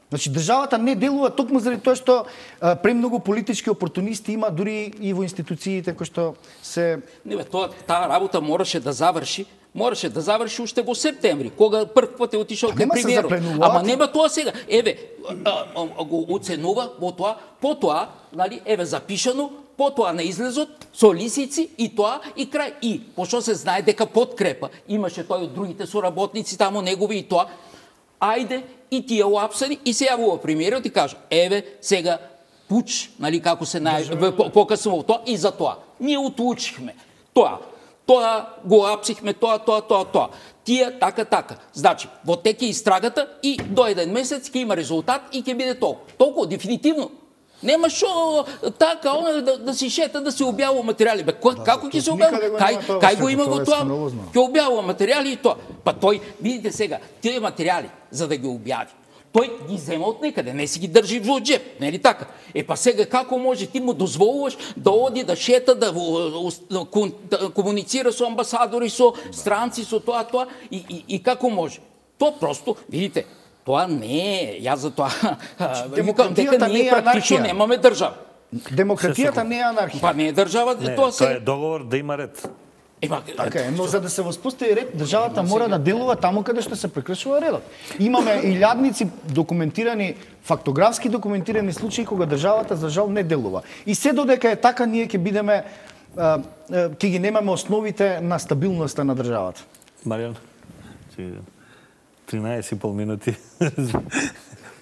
Значи, државата не делува токму заради тоа што а, премногу политички опортунисти има дури и во институциите кои што се... Не бе, тоа, таа работа мораше да заврши, мораше да заврши уште во септември, кога прв пат е отишол кај премиерот. Ама нема тоа сега. Еве, а, а, а, го оценува во тоа, потоа, нали, еве запишано, потоа на излезот со лисици и тоа и крај. И пошто се знае дека подкрепа имаше тој од другите соработници таму негови и тоа, ајде и тие уапсани и се јавува премиерот и кажа, еве сега пуч, нали како се најавува покасно во тоа и за тоа. Ние утучихме тоа. Тоа го апсихме, тоа, тоа, тоа, тоа. Тие така, така. Значи, во теке истрагата и до еден месец ќе има резултат и ќе биде толку. Толку, дефинитивно. Нема шо така, она да, да си шета, да се објавува материјали. Бе, да, како ќе се објавува? Кај, кај го има го тоа? Ќе објавува материјали и тоа. Па тој, видите сега, тие материјали, за да ги објави, тој ги зема од некаде, не си ги држи во джеп, нели така? Е па сега како може ти му дозволуваш да оди да шета, да, да, да комуницира со амбасадори, со странци, со тоа, тоа и, и, и како може? Тоа просто, видите, тоа не е, јас за тоа викам дека ние практично немаме држава. Демократијата не е анархија. Па не е држава, не, тоа се... тоа е договор да има ред. Ема, така е, но за да се воспостави ред, државата мора да делува таму каде што се прекршува редот. Имаме илјадници документирани, фактографски документирани случаи кога државата за жал не делува. И се додека е така, ние ќе бидеме, ќе ги немаме основите на стабилноста на државата. Маријан, тринаесет и пол минути.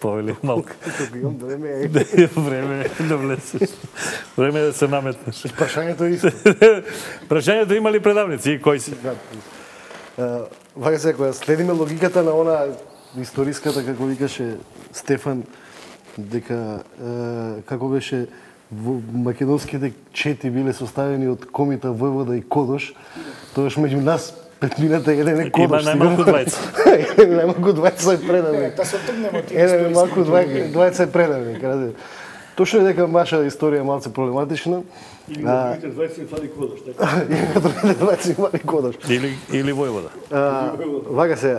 Повели малку. Време е. Време е да влезеш. Време е да се наметнеш. Прашањето е исто. Прашањето има ли предавници и кои си? Вака се, кога следиме логиката на она историската, како викаше Стефан, дека како беше македонските чети биле составени од Комита, Војвода и Кодош, тоаш меѓу нас петмината еден е Кодош. Има најмалку двајца. Најмалку двајца е предавник. Та се тргнемо ти Еден малку двајца е предавник. Точно е дека наша историја е малце проблематична. Или на другите двајца им фали Кодош, така? Или на другите двајца им фали Кодош. Или, или Војвода. Вака се,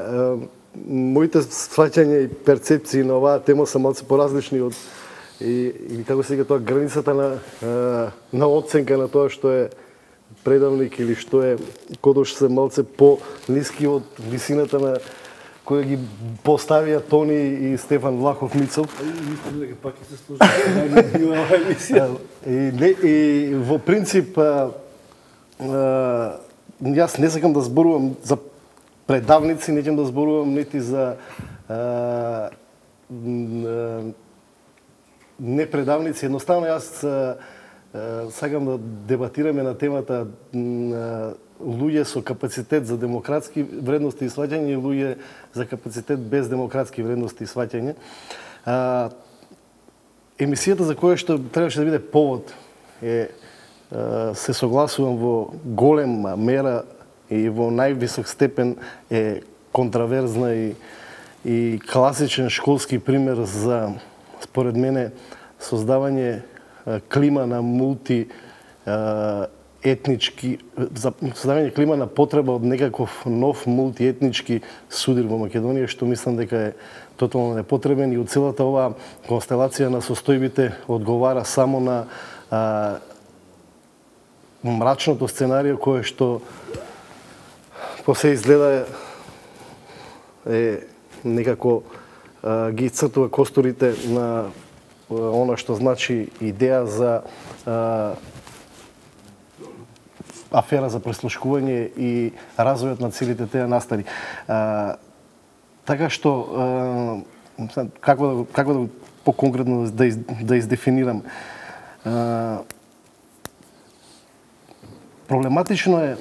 моите сваќања и перцепции на оваа тема се малце поразлични од и, и како се вика тоа границата на на оценка на тоа што е предавник или што е Кодош се малце по-ниски од висината на која ги поставија Тони и Стефан Влахов Мицов. Мислам дека пак ќе се сложи на оваа емисија. И, не, и во принцип а, а, јас не сакам да зборувам за предавници, не ќе да зборувам нити за а, не предавници. Едноставно јас а, сакам да дебатираме на темата а, луѓе со капацитет за демократски вредности и сваќање и луѓе за капацитет без демократски вредности и сваќање. А, емисијата за која што требаше да биде повод е а, се согласувам во голема мера и во највисок степен е контраверзна и и класичен школски пример за, според мене, создавање а, клима на мулти а, етнички, за создавање клима на потреба од некаков нов мултиетнички судир во Македонија, што мислам дека е тотално непотребен и од целата оваа констелација на состојбите одговара само на а, мрачното сценарио кое што по се изгледа е некако а, ги цртува костурите на а, она што значи идеја за а, афера за преслушкување и развојот на целите тие настани. А, така што а, како да како да поконкретно да из, да издефинирам. А, проблематично е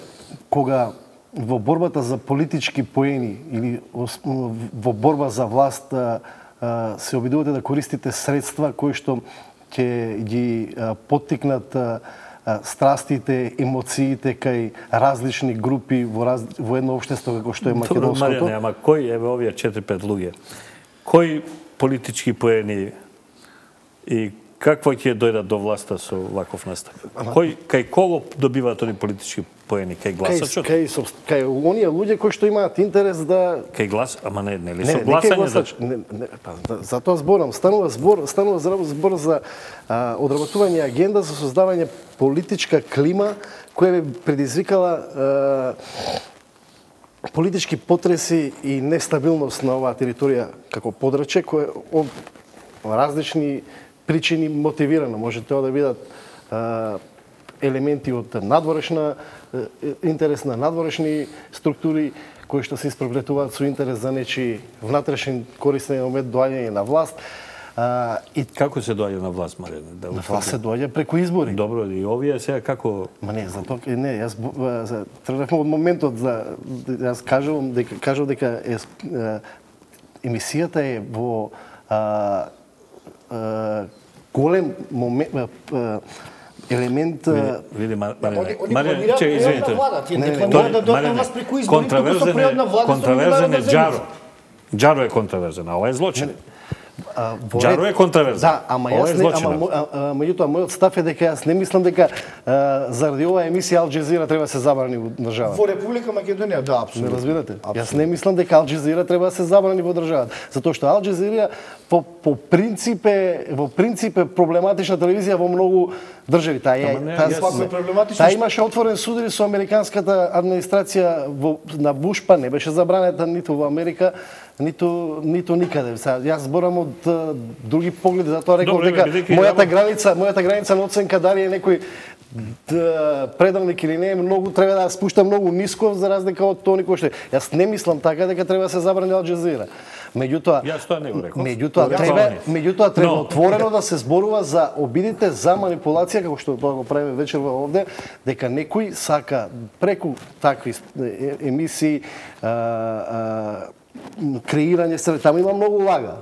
кога во борбата за политички поени или во борба за власт а, а, се обидувате да користите средства кои што ќе ги а, поттикнат а, страстите, емоциите кај различни групи во, раз, во едно општество како што е македонското. Добро, Маријане, ама кој, еве овие четири-пет луѓе, кои политички поени и какво ќе дојдат до власта со ваков настап? Кој, кај кого добиваат они политички поени? Кај гласачот? Кај, кај, кај оние луѓе кои што имаат интерес да... Кај глас, ама не, не ли не, со гласање? За... Не, не, па, за тоа зборам. Станува збор, станува збор за а, одработување агенда за создавање политичка клима која би предизвикала а, политички потреси и нестабилност на оваа територија како подрачје кој од различни причини мотивирано. Може тоа да бидат а, елементи од надворешна интерес на надворешни структури кои што се испреплетуваат со интерес за нечи внатрешен користен момент доаѓање на власт. А, и како се доаѓа на власт, Маријане? Да на власт се доаѓа преку избори. Добро, и овие сега како... Ма не, затоа не, јас тргнавме од моментот за јас кажувам дека кажав дека е, емисијата е во а, а, голем момент а, елемент види Маријане, че извините. Контраверзен контраверзен е Џаро. Џаро е контраверзен, а ова е злочин. Џаро е контраверзен. Да, ама јас не, ама меѓутоа мојот став е дека јас не мислам дека а, заради оваа емисија Ал Џезира треба да се забрани во државата. Во Република Македонија, да, апсолутно. Не разбирате? Абсолютно. Јас не мислам дека Ал Џезира треба да се забрани во државата, затоа што Ал Џезира по по принцип е во принцип е проблематична телевизија во многу држави. Таа е таа та имаше отворен судир со американската администрација во на Буш, па не беше забранета ниту во Америка, ниту ниту никаде. Сега јас зборам од други погледи, затоа реков дека мојата граница, мојата граница на оценка дали е некој предавник или не, многу треба да спушта многу ниско за разлика од тоа кој што. Јас не мислам така дека треба да се забрани Ал Џезира. Меѓутоа, јас тоа не го реков. Меѓутоа треба, меѓутоа треба no. отворено да се зборува за обидите за манипулација како што тоа го правиме вечерва овде, дека некој сака преку такви емисии а, а, креирање се, таму има многу лага.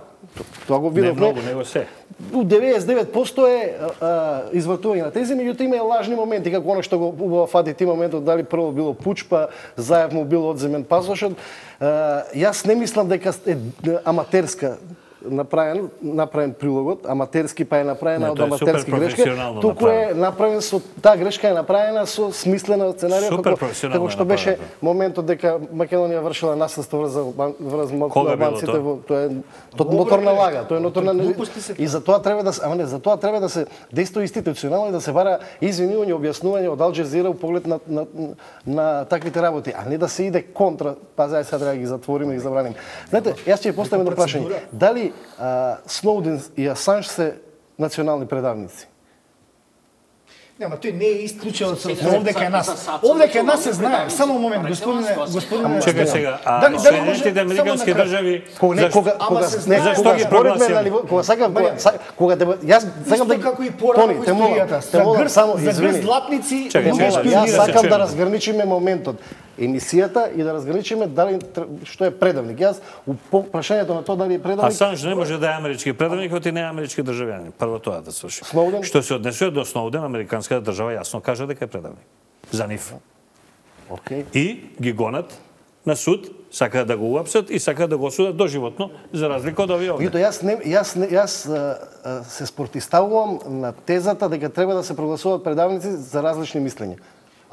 Тоа го видов. Не многу, него се. деветдесет и девет проценти е а, извртување на тези, меѓутоа има и лажни моменти, како оно што го убава фати ти моментот, дали прво било пуч, па Заев му било одземен пасошот. А, јас не мислам дека е аматерска направен, направен прилогот, аматерски па е направена од аматерски грешка, туку е направен со таа грешка е направена со смислена сценарија како, како што беше моментот дека Македонија вршила насилство врз врз албанците, тоа е ноторна лага, тоа е ноторна и за тоа треба да се, ама не, за тоа треба да се действува институционално и да се бара извинување, објаснување од Ал Џезира во поглед на, на, на таквите работи, а не да се иде контра, па зај сега треба да ги затвориме и ги забраниме. Знаете, јас ќе ја поставам едно прашање. Дали Uh, Сноуден и Асанж се национални предавници? Нема, тој не е исклучено со овде кај нас. Овде кај нас се знае. Само момент, господине, господине. Чекај сега, а Соединетите американски држави кога кога кога зашто ги прогласија? Кога сакам кога јас сакам да како и порано во историјата. Те молам само извини. Златници, јас сакам да разграничиме моментот емисијата и да разграничиме дали што е предавник. Јас по прашањето на тоа дали е предавник. Асанж не може да е амерички предавник, оти не е амерички државјанин. Прво тоа да сврши. Што се однесува до Сноуден, американската држава јасно кажа дека е предавник. За нив. Океј. И ги гонат на суд, сакаат да го уапсат и сакаат да го осудат доживотно, за разлика од овие овде. Меѓутоа јас не јас не, јас се спротивставувам на тезата дека треба да се прогласуваат предавници за различни мислења.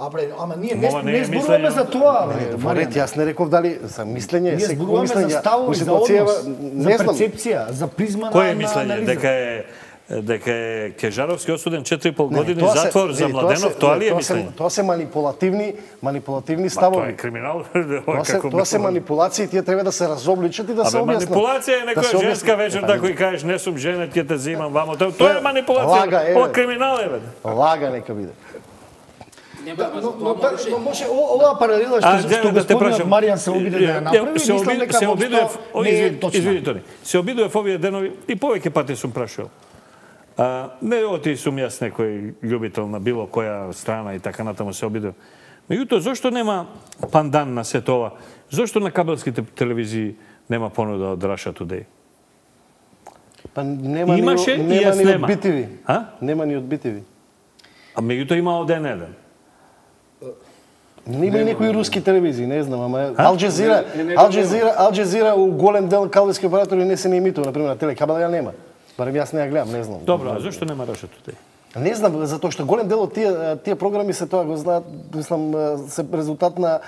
А бре, ама ние не, не, не зборуваме за тоа, бре. Марет, јас не реков дали за мислење, ние зборуваме за ставови, за однос, за перцепција, за призма на Кој е мислење дека е дека е Кежаровски осуден четири и пол години затвор за Младенов, тоа ли е мислење? Тоа се манипулативни, манипулативни ставови. Тоа е криминал. Тоа се тоа се манипулации, тие треба да се разобличат и да се објаснат. Манипулација е некоја женска вечер да кој кажеш не сум жена, ќе те земам вамо. Тоа е манипулација. Ова криминал е бе. Лага нека биде. Но, но, но може оваа паралела што што господинот Маријан се обиде да ја направи, мислам дека се обидував, не е точно. Извинете, се обидував овие денови и повеќе пати сум прашал. А, не оти сум јас некој љубител на било која страна и така натаму се обидував. Меѓутоа, зошто нема пандан на сето ова? Зошто на кабелските телевизии нема понуда од Russia Today? Па нема Имаше ни, и нема јас ни нема. од би ти ви. А? Нема ни од би ти ви. А меѓутоа има од Ен еден. Нема и некои руски телевизии, не знам, ама Ал Джазира, Ал Джазира, Ал Джазира у голем дел кабелски оператори не се не емитува, на пример на телекабел ја нема. Барем јас не ја гледам, не знам. Добро, а зошто нема Russia Today? Не знам, затоа што голем дел од тие тие програми се тоа го знаат, мислам, се резултат на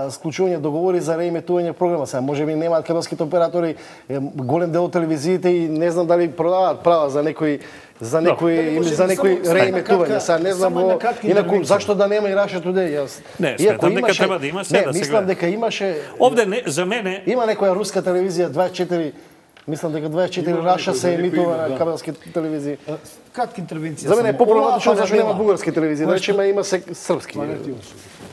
склучување договори за реемитување програма. Сега можеби немаат кабелските оператори голем дел од телевизиите и не знам дали продаваат права за некои за некои или за некои реемитување. Сега не знам инаку зашто да нема и Russia Today. Јас не, сметам дека треба да има се да се мислам дека имаше овде не, за мене има некоја руска телевизија дваесет и четири. Мислам дека дваесет и четири Russia се емитува на кабелски телевизии. Кратка интервенција. За мене е поправдано зашто нема бугарски телевизии, значи има се српски.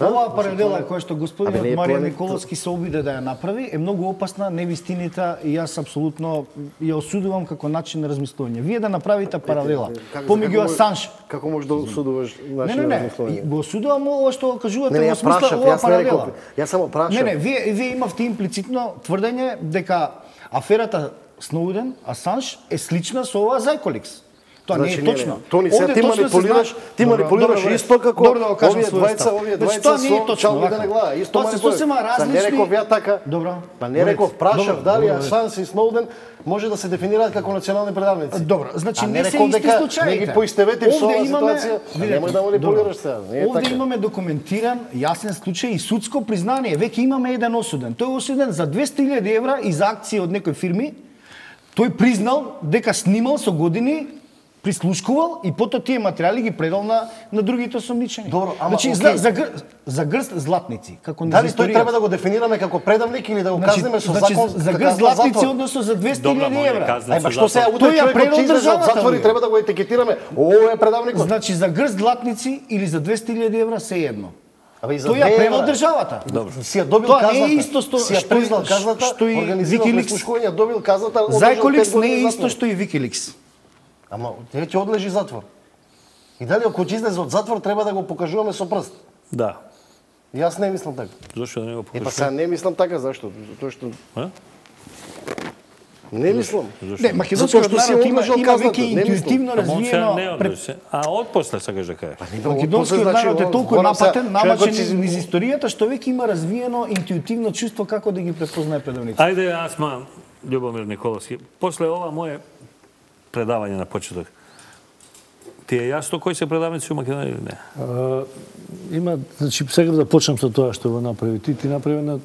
Оваа паралела која што господинот Маријан Николовски се обиде да ја направи е многу опасна, невистинита и јас апсолутно ја осудувам како начин на размислување. Вие да направите паралела помеѓу Асанж. Како можеш да осудуваш начин на размислување? Го осудувам ова што кажувате во смисла оваа паралела. Јас само прашав. Не, не, вие вие имавте имплицитно тврдење дека аферата Сноуден, Асанж е слична со оваа Зајколикс. Тоа значи, не е точно. Тони, сега ти манипулираш, ти манипулираш исто како овие двајца, овие двајца со чалбите на глава. Исто манипулираш. Не реков ја така. Добро. Па не реков, прашав дали Асанж и Сноуден може да се дефинираат како национални предавници. Добро, значи не се исти случаите. Не ги поистоветив со оваа ситуација. Немој да манипулираш сега. Овде имаме документиран јасен случај и судско признание. Веќе имаме еден осуден. Тој е осуден за двесте илјади евра и за акции од некои фирми. Тој признал дека снимал со години, прислушкувал и потоа тие материјали ги предал на на другите осомничени. Добро, ама значи okay. за, за, гр, за грст златници, како не дали тој треба да го дефинираме како предавник или да го значи, казнеме со значи, закон за грст златници односно за двесте илјади евра. Ајба што сега утре човекот ќе излезе од затвор и треба да го етикетираме. Ово е предавникот. Значи за грст златници или за двесте илјади евра се едно. Тој ја превел државата. Добро. Си ја добил тоа казната. Не е исто што си ја признал казната, што и Wikileaks добил казната. Зајколикс не е исто што и Wikileaks. Ама тој ќе одлежи затвор. И дали ако ќе излезе од затвор треба да го покажуваме со прст? Да. Јас не мислам така. Зошто да не го покажуваме? Е па сега не мислам така, зашто? Затоа што А? Не мислам. Не, македонскиот народ има, има веќе интуитивно развиено... А од после сакаш да кажеш? Македонскиот народ е толку напатен, намачен низ историјата, што веќе има развиено интуитивно чувство како да ги препознае предавниците. Ајде, аз ма, Љубомир Николовски, после ова мое предавање на почеток, ти е јасно кои се предавници у Македонија или не? А, има, значи, сега да почнам со тоа што го направи ти. Ти направи на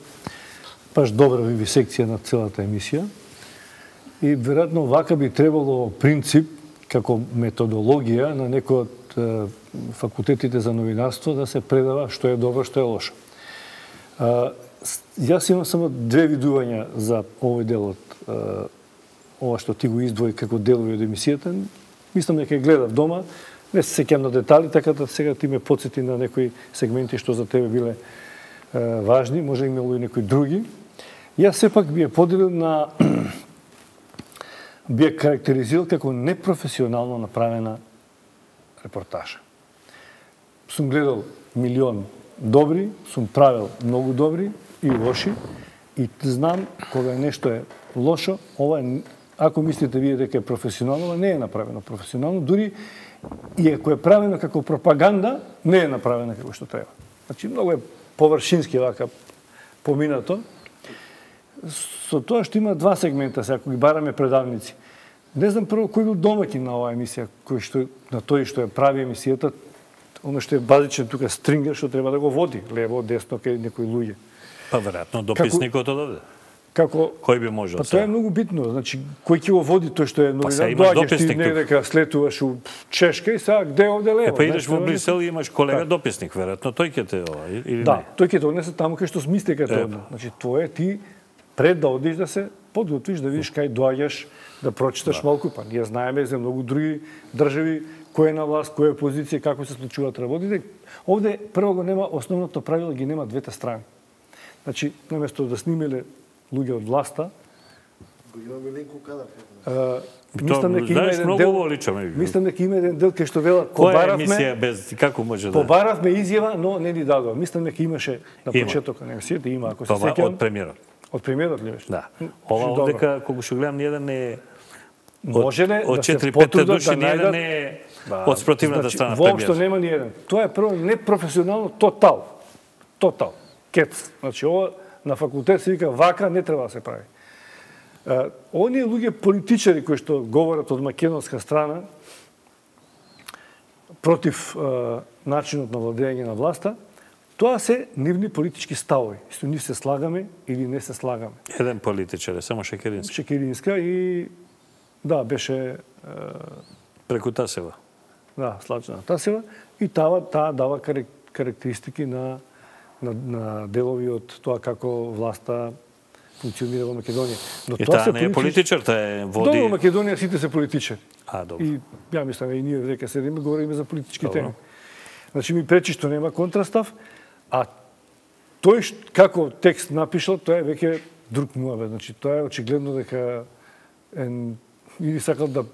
баш добра вивисекција на целата емисија. И веројатно вака би требало принцип како методологија на некој од е, факултетите за новинарство да се предава што е добро, што е лошо. А, јас имам само две видувања за овој дел од е, ова што ти го издвои како делови од емисијата. Мислам дека гледав дома, Не се сеќам на детали, така да сега ти ме подсети на некои сегменти што за тебе биле е, важни, може имало и некои други. Јас сепак би ја поделил на би ја карактеризирал како непрофесионално направена репортажа. Сум гледал милион добри, сум правил многу добри и лоши и знам кога нешто е лошо, ова е, ако мислите вие дека е професионално, ова не е направено професионално, дури и ако е правено како пропаганда, не е направено како што треба. Значи многу е површински вака поминато. Со тоа што има два сегмента, сега ако ги бараме предавници. Не знам прво кој бил домаќин на оваа емисија, кој што на тој што ја прави емисијата, оно што е базичен тука стрингер што треба да го води лево, десно кај некои луѓе. Па веројатно дописникот од овде. Како кој би можел? Па тоа е многу битно, значи кој ќе го води тој што е новинар, доаѓаш ти не дека слетуваш у Чешка и сега где овде лево. Е, па идеш во Брисел и имаш колега дописник, веројатно тој ќе те ова или да, не? Да, тој ќе те однесе таму кај што смисли дека те однесе. Значи тоа е ти пред да одиш да се подготвиш, да видиш кај доаѓаш, да прочиташ да. Малку, па ние знаеме за многу други држави кој е на власт, која е позиција, како се случуваат работите. Овде прво го нема основното правило, ги нема двете страни. Значи, наместо да снимеле луѓе од власта, го имаме Ленко Кадар. Мислам дека има еден дел. Мислам дека има еден дел кај што велат побаравме. Која емисија без како може да? Побаравме изјава, но не ни дадоа. Мислам дека имаше на почетокот на емисијата, има ако се сеќавам. Од премиерот. Од премиерот ли беше? Да. Ова овдека кога што гледам ниеден не е може ли од да се четири пет души да ниеден не е од спротивната значи, страна премиер. Воопшто нема ниеден. Тоа е прво непрофесионално тотал. Тотал. Кец. Значи ова на факултет се вика вака не треба да се прави. Uh, оние луѓе политичари кои што говорат од македонска страна против uh, начинот на владење на власта, тоа се нивни политички ставови. Исто ние се слагаме или не се слагаме. Еден политичар е само Шекеринска. Шекеринска и да, беше uh, преку Тасева. Да, Славчана Тасева и таа таа дава карактеристики на на, на делови од тоа како власта функционира во Македонија. Но и тоа се не е политичар, таа е води... Добро, во Македонија сите се политичари. А, добро. И ја мислам, и ние дека седиме, говориме за политички добро. Теми. Значи, ми пречи што нема контрастав, а тој како текст напишал, тоа е веќе друг муавет. Значи, тоа е очигледно дека е, или сакал да...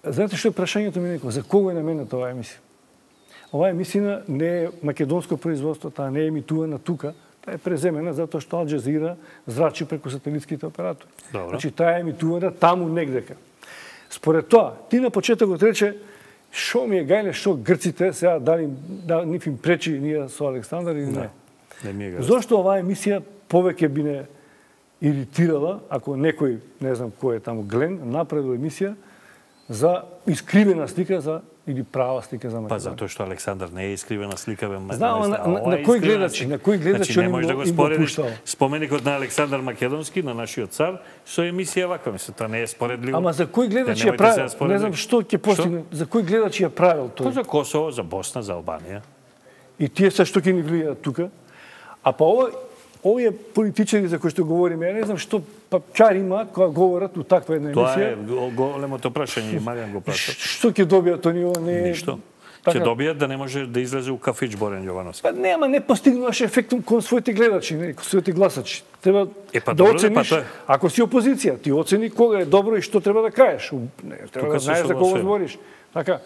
Знаете што е прашањето ми некој? За кого е намената оваа емисија? Оваа емисија не е македонско производство, таа не е емитувана тука, таа е преземена затоа што Ал Джазира зрачи преку сателитските оператори. Добро. Значи таа е емитувана таму негдека. Според тоа, ти на почетокот рече шо ми е гајле, шо грците сега дали да нив им пречи ние со Александар или не. Не ми е Зошто оваа емисија повеќе би не иритирала ако некој, не знам кој е таму Глен, направил емисија за искривена слика за или права слика за Македонија. Па затоа што Александар не е искривена слика, бе. Знам, на, на, на кој гледачи, на кој гледачи значи, не може да го споредиш пуштал. Споменикот на Александар Македонски, на нашиот цар, со емисија ваква, мислам, тоа не е споредливо. Ама за кој гледачи ја правил? Не знам што ќе постигне, за кој гледачи ја правил тој? Па за Косово, за Босна, за Албанија. И тие се што ќе ни влијаат тука. А па ова овие политичари за кои што говориме, ја не знам што па чар имаат кога говорат у таква една емисија. Тоа е големото прашање, Маријан го праша. Што ќе добијат они ова не е... Ништо. Ќе добијат да не може да излезе у кафич Борен Јовановски. Па нема, не постигнуваш ефектум кон своите гледачи, не, кон своите гласачи. Треба е, па, да добро, оцениш, па, ако си опозиција, ти оцени кога е добро и што треба да кажеш. Не, треба Тука да знаеш за кого збориш. Така.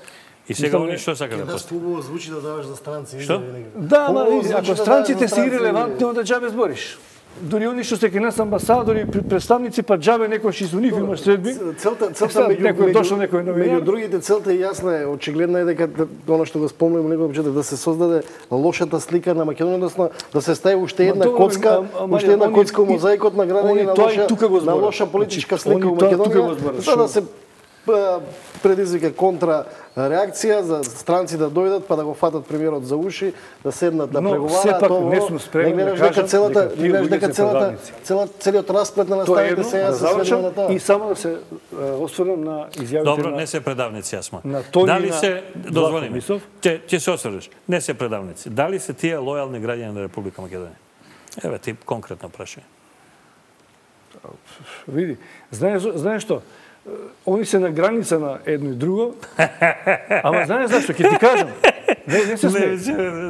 И сега они што сака да постигнат? Хубаво звучи да даваш за странци. Што? Да, ама ако странците се ирелевантни, onda џабе збориш. Дури они што се ке нас амбасадори, представници, па џабе некој што со нив имаш средби. Целта, целта меѓу, некој дошол некој новинар. Меѓу другите целта е јасна, е очигледна е дека она што го спомнувам некој почеток да се создаде лошата слика на Македонија, односно да се стави уште една коцка, уште една коцка у мозаикот на градење на лоша, на лоша политичка слика у Македонија, за да се предизвика контра реакција за странци да дојдат па да го фатат премиерот за уши, да седнат да преговараат. Сепак не сум спремен да кажам целата, не гледаш дека целата целиот расплет на наставите сега се сведува на тоа. И само да се осврнам на изјавите. Добро, не се предавници, јасма. Дали се дозволи ми? Ќе ќе се осврнеш. Не се предавници. Дали се тие лојални граѓани на Република Македонија? Еве ти конкретно прашање. Види, знаеш знаеш што? они се на граница на едно и друго. Ама знаеш зашто? Ќе ти кажам. Не, не се смее.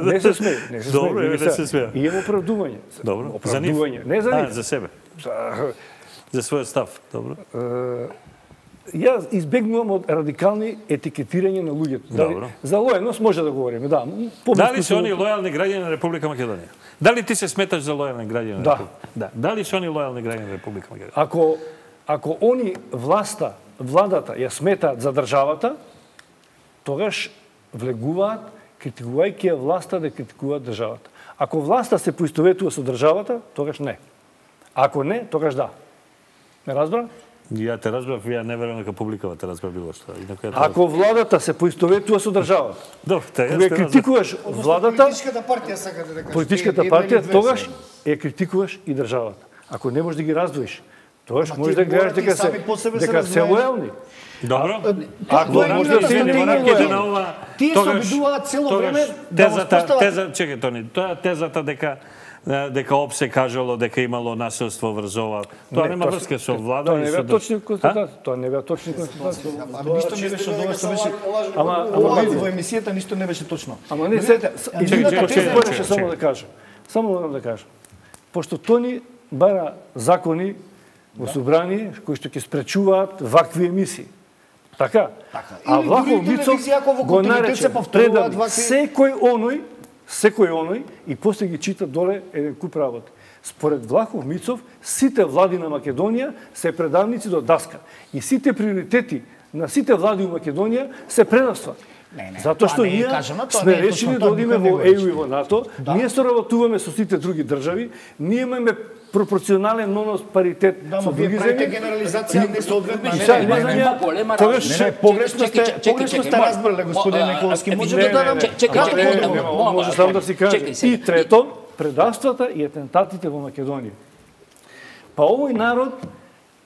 Не се смее. Не се Добро, смее. не се смее. И има оправдување. Добро. Оправдување. Не за нив. За себе. За својот став. Добро. Јас избегнувам од радикални етикетирање на луѓето. Добро. За лојалност може да говориме, да. Дали се они лојални граѓани на Република Македонија? Дали ти се сметаш за лојални граѓани на Да. Република? Да. Дали се они лојални граѓани на Република Македонија? Ако ако они власта, владата ја сметаат за државата, тогаш влегуваат критикувајќи ја власта да критикуваат државата. Ако власта се поистоветува со државата, тогаш не. Ако не, тогаш да. Не разбра? Ја те разбрав, ја не верувам дека публикава те разбра било што. Ако владата се поистоветува со државата, добро, те кога критикуваш владата, политичката партија сакате да кажете. Политичката партија тогаш ја критикуваш и државата. Ако не можеш да ги раздвоиш, тогаш можеш да гледаш дека се дека се лојални. Добро. Ако може да се не на ова, тие се обидуваат цело време да тезата, теза, чекај Тони, тоа тезата дека дека ОПСЕ кажало дека имало насилство врз ова. Тоа нема врска со влада и со. Тоа не беа точни констатации. Тоа не беа точни констатации. Ама ништо не беше од ова што беше. Ама ама во емисијата ништо не беше точно. Ама не се едината теза пореше само да кажам. Само морам да кажам. Пошто Тони бара закони во собрание кои што ќе спречуваат вакви емисии. Така? А Влахов Мицов го нарече предали секој оној секој оној и после ги чита доле еден куп работи. Според Влахов Мицов, сите влади на Македонија се предавници до даска. И сите приоритети на сите влади во Македонија се предавства. Не, не, Затоа што ние сме решили да одиме во Е Ю и во НАТО, Да. ние соработуваме со сите други држави, ние имаме пропорционален нонос паритет Да, со ма вие други правите земји. генерализација не соодветна. И сега Не, има не, за не, неа голема тогаш разлика. Не, погрешно сте, Чекај, погрешно чекај, сте чекај, разбрале, господин мо- Николски. а, Може не, да не, дадам не, чекај, кратко чекај, одговор. не, не, Може само да си каже. Чекај сега. И трето, предавствата и атентатите во Македонија. Па овој народ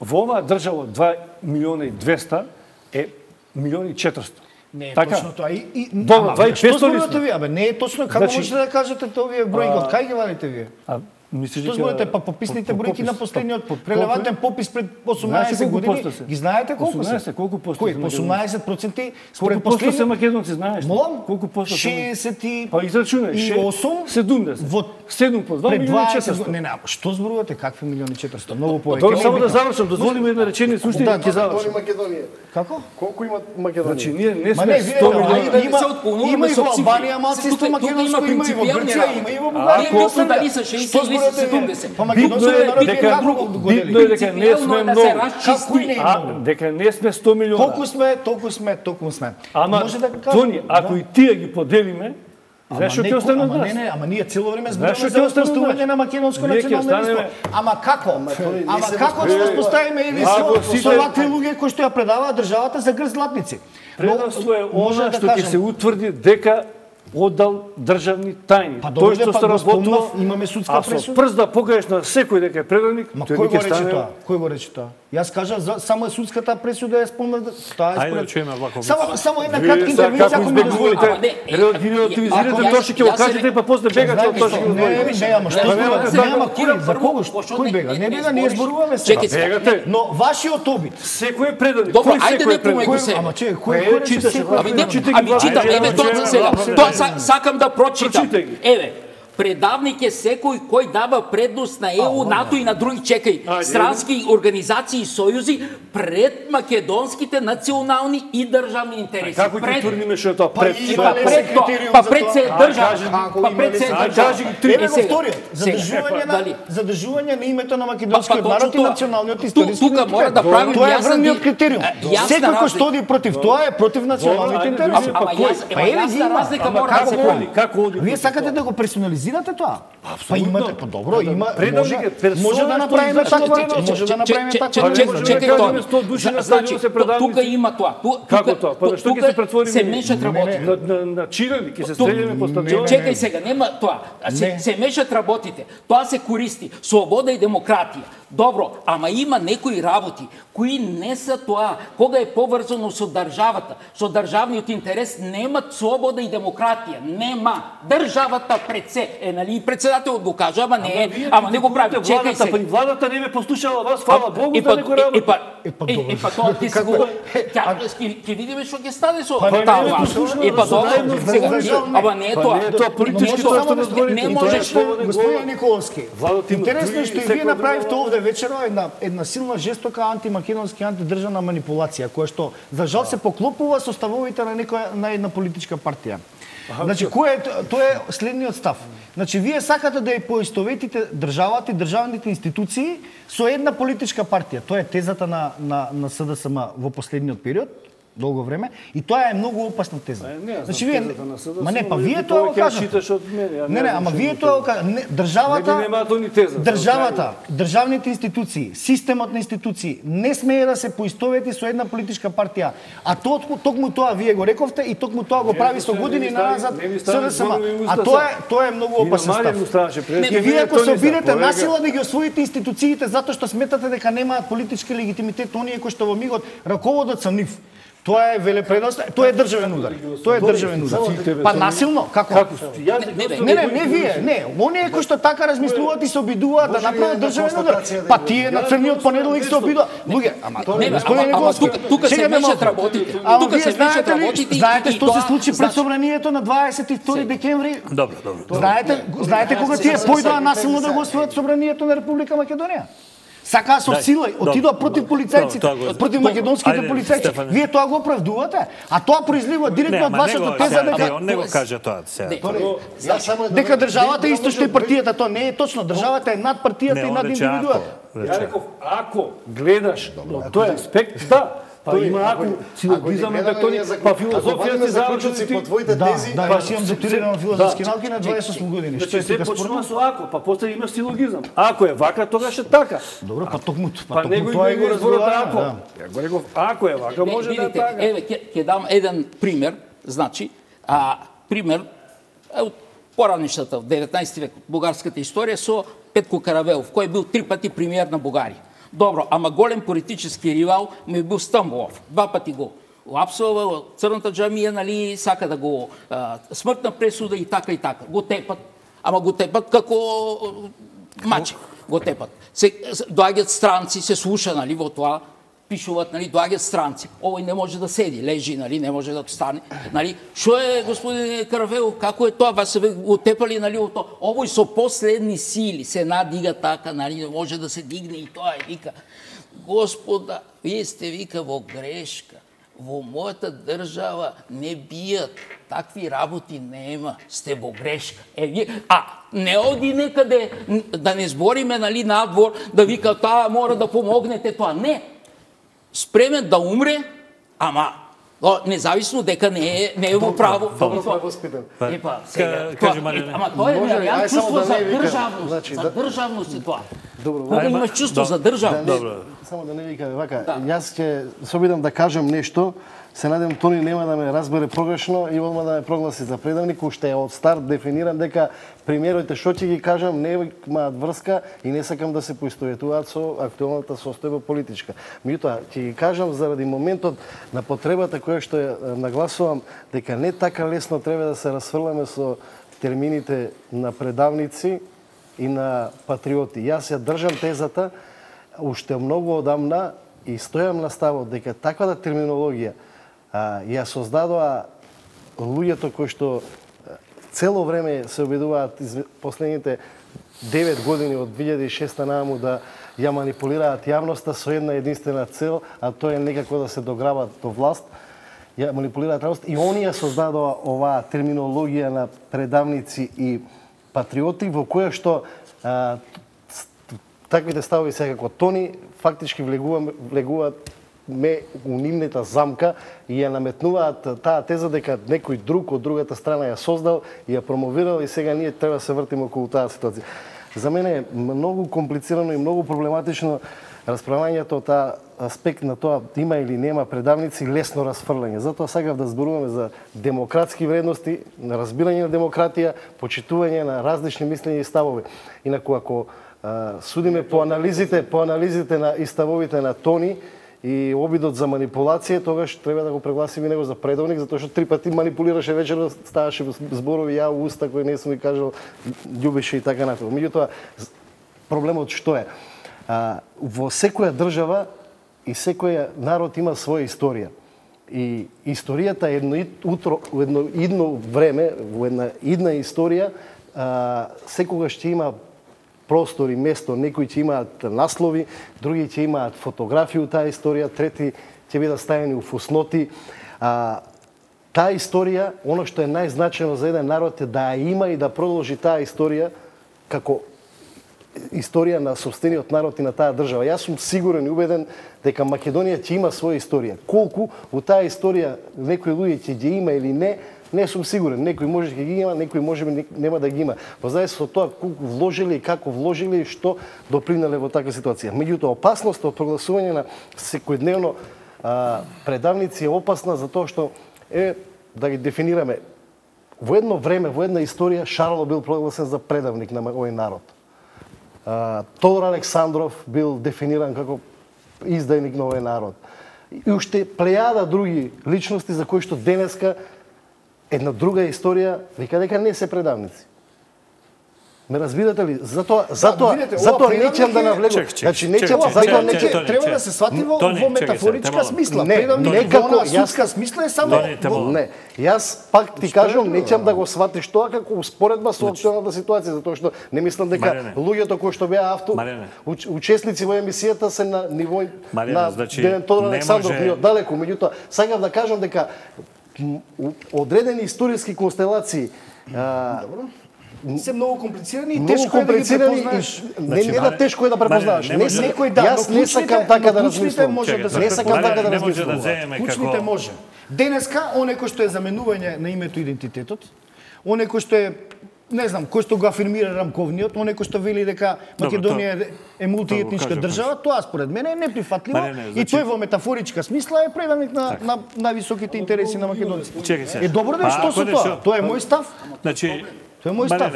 во оваа држава два милиона и двеста е милион и четиристо. Не е Така? точно тоа. И, и, Добро, ама, два и што петsto ли зборувате сме? вие? Абе, не е точно. Како Значи- можете да кажете тоа вие бројки? Од кај ги вадите вие? А мислиш Што дека- зборувате па пописните по- по бројки попис. на последниот По- по- прелевантен колку е? попис пред Знаеш осумнаесет колку години? поsto се? Ги знаете колку се? осумнаесет, колку поsto Кој? се осумнаесет проценти Колку според посто се последниот македонци, знаеш? ли? Молам? Колку посто се? шеесет и Па израчунај, и ше- осум седумдесет. во седум по два пред милиона и дваесет четиристо. години. Не, не, што зборувате? Какви милиони и четиристо? Многу повеќе. Добро, Не е само да битно. завршам, дозволи ми една реченица, уште Да, ќе завршам. Македонија. Како? Колку има Македонија? Значи, ние не Ма сме не, сто видете, милиона. а, има, се отклонуваме има и со во цифри. Албанија малцинство Тука- тука има македонско, има и во принципијални Грција, работи. има и во Ако- Бугарија. Не битно дали са шеесет или са седумдесет. Па Битно македонскиот е народ дека- е како го битно годели. е дека не сме Принципијално да се многу. расчисти. Како не е А, многу? дека не сме сто милиона. Колку сме, толку сме, толку сме. Ама, Може да кажем, Тони, ако да. и тие ги поделиме, знаеш што не, ќе остане од ама нас? не, не, ама ние цело време Знаеш зборуваме што за ќе остане од воспоставување нас? на македонско Ние ќе национално единство. останеме- Ама како? Ама како да воспоставиме единство Ако сите- со вакви луѓе кои што ја предаваат државата за грз златници? Предавство е Може она да што ќе кажем- се утврди дека оддал државни тајни. Па Тој добре, што па се го работува, спомнав, имаме судска а со пресуда. прст да покажеш на секој дека е предавник, Ма тој кој не го ќе рече стане. тоа? Кој го рече тоа? Јас кажав за само е судската пресуда е спомнав тоа е Ајде според. да чуеме Влахов Само Мицов. само една Вие кратка сега интервенција како ако ми дозволите. Ама не, избегнувате, е, релативизирате ако тоа јас- што ќе го јас се кажете, не- па после бегате Знаете од тоа што што? ќе го Не, зборите. не, ама што Па зборувате? немате Не, така. ама кој? За кого? Пошто Кој не- бега? не- Не не бега, ние збориш. зборуваме се. Чекај сега. Бегате. Но вашиот обид. Секој е предавник. Добро, Кој ајде секој не е предавник? помај го се. Ама че, кој Кој кој рече читаше секој? Ами, не, Прочитај ами ги, читам, ајде, еве ајде, тоа ајде, сега. ајде, Тоа ајде. са- сакам да прочитам. Прочитај ги. Еве, предавник е секој кој дава предност на Е У, НАТО и на други, чекај, Ајде. странски организации и сојузи пред македонските национални и државни интереси. Како ќе Пред- тврдиме што е тоа пред? И Што па е ли пред? пред се тоа, критериум па за пред тоа? се А, држава, кажи ги, па пред се А, држава. кажи ги три. Еве Е, го сега, вториот. сега, Задржување дали? на задржување на името на Па, македонскиот па, народ и точно тоа. националниот Ту- историски тука идентитет. мора да правим Тоа е јасна врвниот ди- критериум. јасна Секој кој разлика. што оди против тоа е против националните ајде да интереси. видиме, Ама па јас, кој? ема Па еве јасна ги има. разлика Ама мора да се како прави. оди? Како оди? Вие сакате да го персонализирате тоа? Па имате, па добро, има, Предавник може, е персона може да што направиме извршува така, предавност. може да направиме Че- така. че- Па че- не можеме чекај, да Тони. кажеме сто души на Значи, стадион се ту- предавници. тука има тоа. Ту- Како тука- тоа? Па ту- што ќе тука се претвориме? Се мешат работите. На, на, на чирани, ќе се Тук- стреляме по стадион. Чекај сега, нема тоа. Се, Не. се мешат работите. Тоа се користи. Слобода и демократија. Добро, ама има некои работи кои не се тоа. Кога е поврзано со државата, со државниот интерес, немат слобода и демократија. Нема. Државата пред се. е, нали, председателот го кажа, ама не, ама не го прави. Чекај се. При владата не ме послушала вас, фала Богу, да не го работи. работи. И па тоа ти си го... Ќе видиме што ќе стане со таа власт. И па добро, ама не е тоа. Тоа политички тоа што не можеш. Господин Николовски, интересно е што и вие направивте овде вечера една една силна жестока антимакедонски антидржавна манипулација која што за жал се поклопува со ставовите на некоја на една политичка партија. Значи, кој е тоа е следниот став. Значи, вие сакате да ја поистоветите државата и државните институции со една политичка партија. Тоа е тезата на на на СДСМ во последниот период, долго време, и тоа е многу опасна теза. Значи вие ма не, па вие тоа го кажете. Не, не, ама вие тоа го кажете. Државата, државата, државните институции, системот на институции не смее да се поистовети со една политичка партија. А токму тоа вие го рековте и токму тоа го прави со години назад СДСМ. А тоа е тоа е многу опасен став. И вие ако се обидете насила да ги освоите институциите затоа што сметате дека немаат политички легитимитет оние кои што во мигот раководат со нив. Тоа е велепредност, тоа е државен удар. Тоа е државен удар. Па насилно, како? Не, не, не вие, не. Оние кои што така размислуваат и се обидуваат да направат државен удар. Па тие на црниот понеделник се обидуваат. Луѓе, ама господин Николовски, тука се мешат работите. Тука се мешат работите. Знаете што се случи пред собранието на дваесет и втори декември? Добро, добро. Знаете, знаете кога тие појдоа насилно да го освојат собранието на Република Македонија? Сакаа со сила, отидоа против полицајците, против македонските полицајци. Вие тоа го оправдувате, а тоа произлива директно од вашата теза дека он не го кажа тоа сега. Дека државата е исто што и партијата, тоа не е точно. Државата е над партијата и над индивидуата. Ја реков, ако гледаш тој аспект, да. Па има ако силогизам е тони, па филозофијата заучници по твоите тези. Да, јас имам докторирано филозофски науки на дваесет и осум години. Што се почнува со ако, па после имаш силогизам. Ако е вака, тогаш е така. Добро, па токму па токму тоа е го разборот ако. Ја го реков, ако е вака, може да е така. Еве ќе дам еден пример, значи, а пример од поранишната во деветнаесети век бугарската историја со Петко Каравелов, кој бил три пати премиер на Бугарија. Добро, ама голем политички ривал му е бил Стамболов. Два пати го лапсува, црната џамија, нали, сака да го а, смртна пресуда и така и така. Го тепат, ама го тепат како мачек. Го тепат. Се доаѓаат странци, се слуша, нали, во тоа, пишуваат, нали, доаѓаат странци. Овој не може да седи, лежи, нали, не може да стане, нали. Што е, господин Каравелов, како е тоа? Вас се го тепали, нали, во тоа. Овој со последни сили се надига така, нали, може да се дигне и тоа е, вика. Господа, вие сте, вика, во грешка. Во мојата држава не бијат, такви работи нема, сте во грешка. Е, вие, а не оди некаде да не збориме, нали, надвор, да вика таа мора да помогнете тоа. Не. Спремен да умре, ама независно дека не е не е во право. Епа, сега, ама тоа е реално чувство за државност. За државност е тоа. Кога имаш чувство за државност. Само да не викаме вака, јас ќе се обидам да кажам нешто, се надевам Тони нема да ме разбере погрешно и одма да ме прогласи за предавник, уште е од старт дефиниран дека премиерите што ќе ги кажам немаат врска и не сакам да се поистоветуваат со актуелната состојба политичка. Меѓутоа, ќе ги кажам заради моментот на потребата која што ја нагласувам дека не така лесно треба да се расфрламе со термините на предавници и на патриоти. Јас ја држам тезата уште многу одамна и стојам на ставот дека таквата терминологија а, ја создадоа луѓето кои што цело време се обидуваат из последните девет години од две илјади и шеста нааму да ја манипулираат јавноста со една единствена цел, а тоа е некако да се дограбат до власт, ја манипулираат јавноста и оние создадоа оваа терминологија на предавници и патриоти во која што а, таквите ставови секако Тони фактички влегуваат, влегуваат ме у нивната замка и ја наметнуваат таа теза дека некој друг од другата страна ја создал и ја промовирал и сега ние треба да се вртиме околу таа ситуација. За мене е многу комплицирано и многу проблематично расправањето од таа аспект на тоа има или нема предавници, лесно расфрлање. Затоа сакав да зборуваме за демократски вредности, на разбирање на демократија, почитување на различни мислења и ставови. Инаку ако а, судиме по анализите, по анализите на и ставовите на Тони и обидот за манипулација, тогаш треба да го прегласиме него за предавник, затоа што три пати манипулираше вечерно, ставаше зборови ја у уста кои не сум и кажал, љубеше и така натаму. Меѓутоа, проблемот што е? А, во секоја држава и секој народ има своја историја. И историјата е едно утро, едно идно време, во една идна историја, а, секогаш ќе има простор и место, некои ќе имаат наслови, други ќе имаат фотографии у таа историја, трети ќе бидат ставени у фусноти. А, таа историја, оно што е најзначајно за еден народ е да ја има и да продолжи таа историја како историја на сопствениот народ и на таа држава. Јас сум сигурен и убеден дека Македонија ќе има своја историја. Колку у таа историја некои луѓе ќе ги има или не, не сум сигурен. Некои може ќе ги има, некои може би нема да ги има. Во зависност од тоа колку вложили и како вложили и што допринеле во таква ситуација. Меѓутоа, опасноста од прогласување на секојдневно а, предавници е опасна затоа што е да ги дефинираме. Во едно време, во една историја Шарло бил прогласен за предавник на овој народ. Uh, Тодор Александров бил дефиниран како издајник на овој народ. И уште плејада други личности за кои што денеска една друга историја вика дека не се предавници. Ме разбирате ли? Затоа затоа видите, затоа ова не ќе да навлегам. Значи не ќе затоа не ќе треба да се свати во во метафоричка смисла. Не, Предавник не како во судска смисла е само не. Јас пак ти кажам, не ќе да го сватиш тоа како успоредба со актуелната ситуација, затоа што не мислам дека луѓето кои што беа авто учесници во емисијата се на ниво на Ден Тодор Александров и оддалеку, меѓутоа сакам да кажам дека одредени историски констелации се многу комплицирани и многу тешко е да ги препознаеш. Не, не да тешко е да препознаваш. Не некој да, јас не сакам така да размислам. Може да се не сакам така да размислам. размислам. Клучните може. Денеска оне кој што е заменување на името и идентитетот, оне кој што е не знам, кој што го афирмира Рамковниот, оне кој што вели дека Македонија е мултиетничка држава, тоа според мене е неприфатливо и тој во метафоричка смисла е предавник на на највисоките интереси на македонците. Е добро да што со тоа? Тоа е мој став. Значи Тоа е мој став.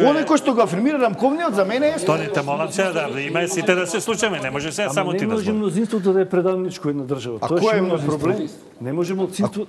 Оне кој што го афирмира Рамковниот за мене е Тоните молам се да има сите да се случаме, не може се само ти да. Не може мнозинството да е предавничко една држава. А кој е мнозинство? Не може мнозинство.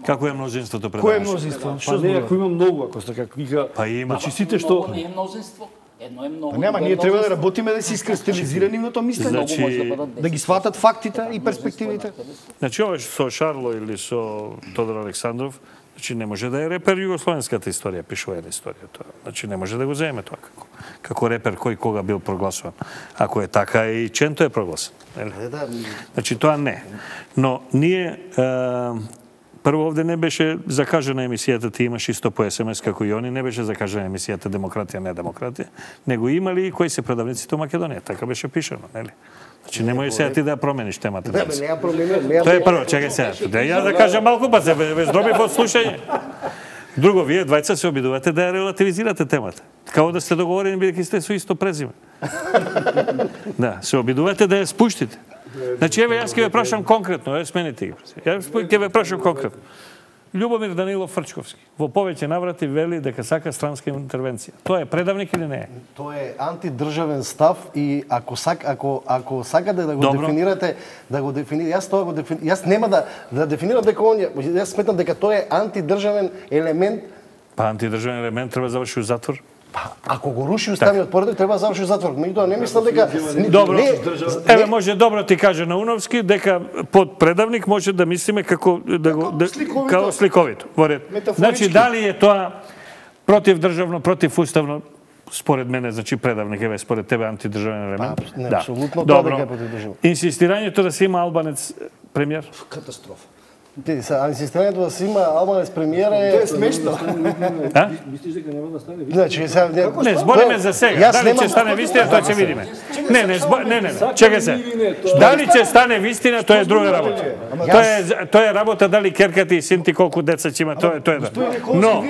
Како е мнозинството предавничко? Кој е мнозинство? Па не, ако има многу, ако сте како вика. Па има. Значи сите што не е мнозинство. Едно е многу. Нема, ние треба да работиме да се искристализира нивното мислење, значи, да ги сватат фактите и перспективите. Значи ова со Шарло или со Тодор Александров, значи не може да е репер југословенската историја, пишува една историја тоа. Значи не може да го земе тоа како како репер кој кога бил прогласуван. Ако е така и Ченто е прогласен. Значи тоа не. Но ние прво овде не беше закажана емисијата, ти имаш исто по ес ем ес како и они, не беше закажана емисијата Демократија, не демократија, него имали и кои се предавниците во Македонија, така беше пишано, нели? Значи не може сега ти да промениш темата. Не, не ја променувам. Тоа е прво, чекај сега. Да ја да кажам малку, па се здробив од слушање. Друго, вие двајца се обидувате да ја релативизирате темата. Као да сте договорени бидејќи сте со исто презиме. Да, се обидувате да ја спуштите. Значи, еве, јас ќе ве прашам конкретно, еве, смените ги. Јас ќе ве прашам конкретно. Љубомир Данилов Фрчковски во повеќе наврати вели дека сака странска интервенција. Тоа е предавник или не е? Тоа е антидржавен став и ако сак ако ако сакате да го Добро. дефинирате, да го дефинирате, јас тоа го дефинирам. Јас нема да да дефинирам дека он јас сметам дека тоа е антидржавен елемент. Па антидржавен елемент треба да заврши у затвор. Па, ако го руши уставниот поредок, треба да заврши затвор. Меѓутоа не мислам дека добро. Не, еве може добро ти каже Науновски дека под предавник може да мислиме како да го да, како сликовито. Во ред. Значи дали е тоа против државно, против уставно? Според мене, значи предавник еве според тебе антидржавен елемент. Па, не, да. Апсолутно тоа дека е против државно. Инсистирањето да се има албанец премиер? Катастрофа. Ти се инсистирањето да се има албанец премиер е Тоа е смешно. А? Мислиш дека нема да стане? Значи, сега не збориме за сега. Дали ќе стане вистина, тоа ќе видиме. Не, не, не, не, чекај се. Дали ќе стане вистина, тоа е друга работа. Тоа е тоа е работа дали керката и син ти колку деца ќе има, тоа е тоа е. Но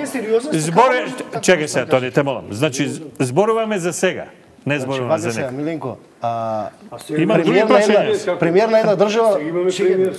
зборе, чекај се, тоа не те молам. Значи зборуваме за сега. Не зборуваме за него. Миленко, А, Има други премиер на една, прашања. премиер на една држава.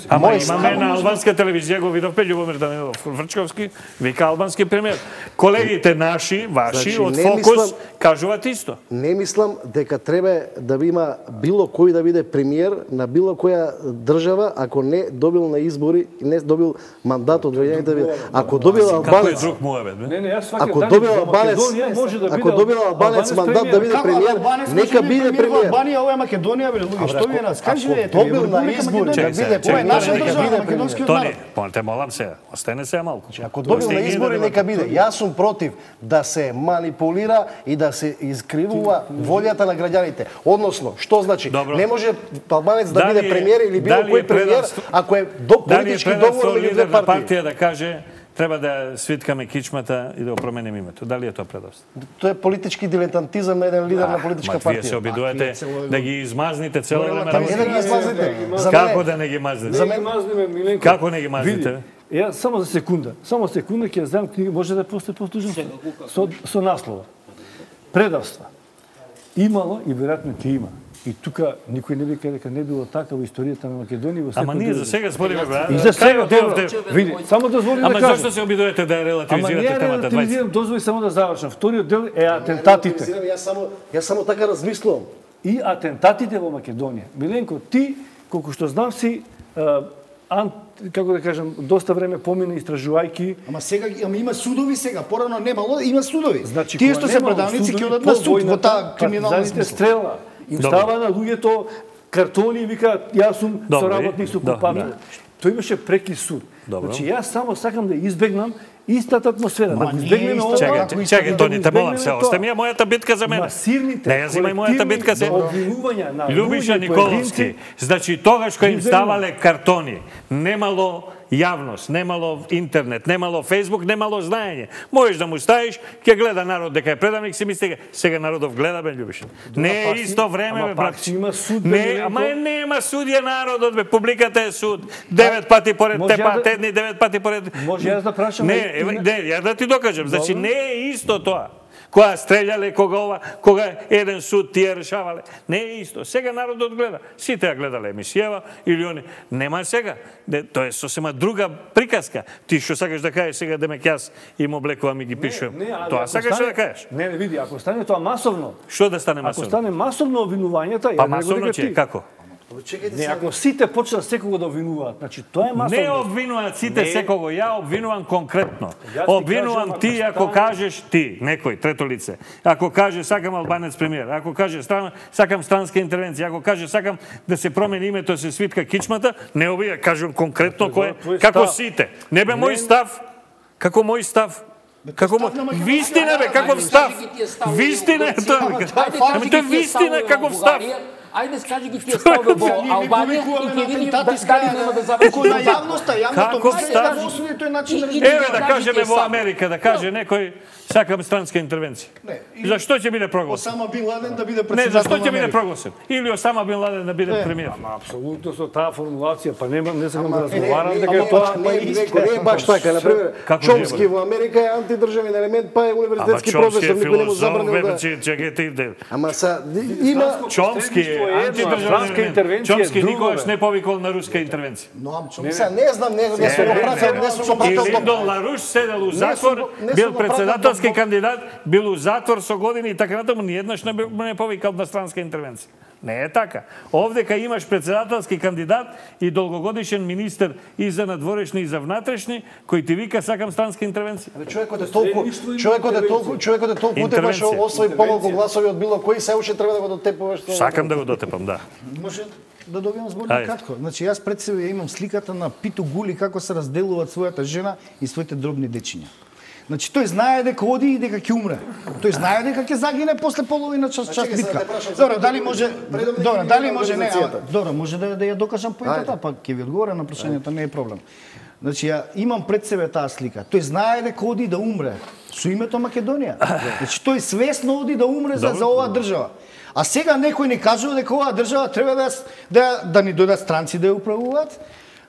Ама Мој имаме на албанска телевизија, го видовме Љубомир Данилов Врчковски, вика албански премиер. Колегите наши, ваши, Значи, од не Фокус, мислам- кажуваат исто. Не мислам дека треба да има било кој да биде премиер на било која држава ако не добил на избори и не добил мандат од граѓаните да биде. Ако добил Како е албанец, друг муабет, бе? Не, не, јас сваќам ако Дани, добил во албанец, Македонија може да биде ако добил албанец мандат да биде премиер, нека биде премиер. Албанија, ова е Македонија, бе, луѓе, што ви нас кажете? Ако добил на избори да биде Ова е наша премиер, нека држава, биде македонскиот Тони, народ. пон те молам се, остане се малку. Ако добил на избори, нека биде. Јас сум против да се манипулира и да се искривува волјата на граѓаните. Односно, што значи? Добро. Не може албанец да Дали биде е- премиер или било дали е кој премиер, предавство- ако е до Дали е политички предавство договор меѓу лидер две на партии. партија да каже треба да свиткаме кичмата и да го променим името. Дали е тоа предавство? Тоа е политички дилетантизам на еден лидер на Ма политичка вие се партија. обидувате да ги измазните цело време. Па не да ги измазите. За Како мене да не ги мазните? За мене мазниме Миленко. Како не ги мазните? Види, ја само за секунда, само секунда ќе знам книга, може да постане послужен со со наслова. Предавства. Имало и веројатно ќе има. И тука никој не вика дека не било така во историјата на Македонија во секој Ама ние за сега спориме, брат. И за сега, Кај добро. отидовте? Види, само дозволи да Ама кажам. зашто се обидувате да Ама не релативизирате ја темата? релативизирам, дозволи само да завршам. Вториот дел е атентатите. Јас само јас само така размислувам. И атентатите во Македонија. Миленко, ти, колку што знам си, а, ант, како да кажам, доста време помина истражувајки. Ама сега ама има судови сега, порано немало, има судови. Значи, Тие кога што се немало предавници судови ќе одат по на суд во војната, таа криминална партизаните смисла. стрела. Им Добро. става на луѓето картони и вика јас сум Добро, соработник со да, купател. да. Тој имаше преки суд. Добро. Значи јас само сакам да избегнам истата атмосфера, да Ма го не е избегнеме иста ова. така. Чекај, чекај, Тони, те молам се, остами ја мојата битка за мене. Масивните, Не ја земај мојата битка се. обвинувања на Љубиша луѓе, Николовски, поединци, значи тогаш кој им Ги ставале картони, немало јавност, немало интернет, немало Фейсбук, немало знаење. Можеш да му ставиш, ќе гледа народ дека е предавник, си мисли сега народов гледа, бе, Љубиша. Не е пак си- исто време, ама бе, пак брат. си има суд, бе, Не, Миленко. ама е, нема судија народот, бе, публиката е суд. Девет пати поред може те ја да- патедни, девет пати поред. Може јас да прашам, Не, а и- еве, не, ја да ти докажам. Значи Добро. не е исто тоа. Кога стреляле, кога ова, кога еден суд тие решавале. Не е исто. Сега народот гледа. Сите ја гледале емисијава или они. Нема сега. Не, тоа е сосема друга приказка. Ти што сакаш да кажеш сега демек јас им облекувам и ги пишувам. Не, али Тоа ако сакаш стане- да кажеш. Не, не, види, ако стане тоа масовно, Што да стане ако масовно? стане масовно обвинувањата, Па ја не го масовно дека ќе, ти. како? Не, ако сите почнат секого да обвинуваат, значи тоа е масовно. Не обвинуваат сите Не. секого, ја обвинувам конкретно. Јас ти Обвинувам кажам, ти ако ако стане- кажеш ти, некој трето лице. Ако каже сакам албанец премиер, ако каже стран, сакам странска интервенција, ако каже сакам да се промени името, се свитка кичмата, не обија, кажувам конкретно кој, твој како став. сите. Не бе Не. мој став. Како мој став. Како став на мој Македонија. вистина бе, каков став? Вистина е тоа. бе. Ами тоа е вистина, каков став? Ајде скажи ги тие ставове во Албанија и ќе видиме дали нема да заврши. Ако на јавноста, јавното Каков мислење став? да осуди тој начин на И- и- развивање. Еве да Кажи кажеме тие во ставови. Америка, да каже некој сакам странска интервенција. Не, и- Зашто ќе биде прогласен? Осама Бин Ладен да биде Не, председател зашто на ќе биде Америка. прогласен? Или Осама Бин Ладен да биде премиер? Ама апсолутно со таа формулација, па нема не сакам да Не, разговарам не, дека ама е тоа не, не, не е баш така. Например, Како Чомски не е, во Америка е антидржавен елемент, па е Ама универзитетски Чомски професор, е никој не му филозоф, забранил бе, да... че чекајте иде. Ама са, има... Чомски е Средништво е едно, а антидржавен франска елемент. интервенција е Чомски друго, никогаш бе. не повикол на руска интервенција. Но Амчо, Са, не знам, не, не сум го пратил, не сум го И пратил. Линдон Ларуш седел у затвор, го- не сум бил го пратил председателски до- кандидат, бил у затвор со години и така натаму, ниеднаш не, бил- не повикал на странска интервенција. Не е така. Овдека имаш председателски кандидат и долгогодишен министер и за надворешни и за внатрешни, кој ти вика сакам странска интервенција. Човекот е толку, човекот е толку, човекот е толку утепаш Интервенција. освои помалку гласови од било кој, се уште треба да го дотепуваш. тоа. Сакам да го дотепам, да. може да добиам збор Ајде. кратко. Значи јас пред себе имам сликата на Питу Гули како се разделуваат својата жена и своите дробни дечиња. Значи тој знае дека оди и дека ќе умре. Тој знае дека ќе загине после половина час час чекај, сега битка. те прашам за Добро, дали може предам да Добро, ги дали видам може не, организацијата. ама, добро, може да да ја докажам поентата, па ќе ви одговорам на прашањето, не е проблем. Значи ја имам пред себе таа слика. Тој знае дека оди да умре со името Македонија. Значи тој свесно оди да умре за, за оваа држава. А сега некој ни кажува дека оваа држава треба да ја- да да ни дојдат странци да ја управуваат,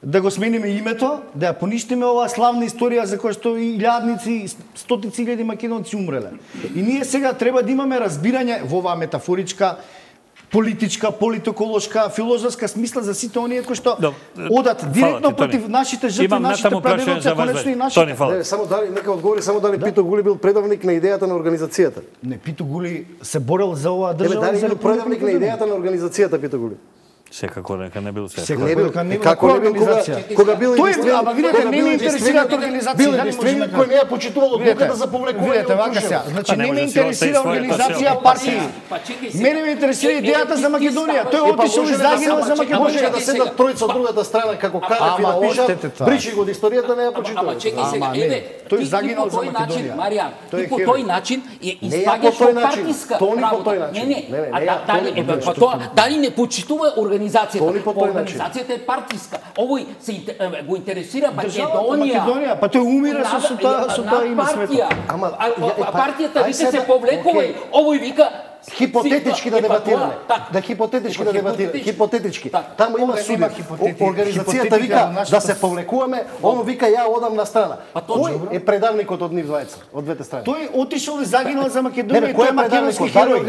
да го смениме името, да ја поништиме оваа славна историја за која што и илјадници, стотици илјади македонци умреле. И ние сега треба да имаме разбирање во оваа метафоричка политичка, политиколошка, филозофска смисла за сите оние кои што одат директно против нашите жртви, нашите прадедовци, а конечно и нашите. Не, само дали нека одговори само дали Пито Гули бил предавник на идејата на организацијата. Не, Пито Гули се борел за оваа држава. Дали бил предавник на идејата на организацијата Пито Гули? Секако нека не бил се. Не бил, како не бил кога кога бил единствен, ама видете, не ме интересираат организации, бил единствен кој не ја почитувал одлуката за повлекување. Видете, вака сега, значи не ме интересира организација, партии. Мене ме интересира идејата за Македонија. Тој отишол и загинал за Македонија. Може да седат тројца од другата страна како Кадев и да пишат, бричи го од историјата, не ја почитувал. Ама чекај сега, еве, тој загинал за Македонија. Маријан, и по тој начин е испаѓаш во партиска работа. Не, не, дали еве па тоа, дали не почитува организацијата? Организацијата е партиска. Овој се го интересира Македонија. Македонија, па тој умира со со таа со таа име света. Ама партијата вика се повлекува, овој вика хипотетички да дебатираме. Да хипотетички да дебатираме. Хипотетички. Таму има суди. Организацијата вика да се повлекуваме, оно вика ја одам на страна. Кој е предавникот од нив двајца, од двете страни? Тој отишол и загинал за Македонија, тој е македонски херој.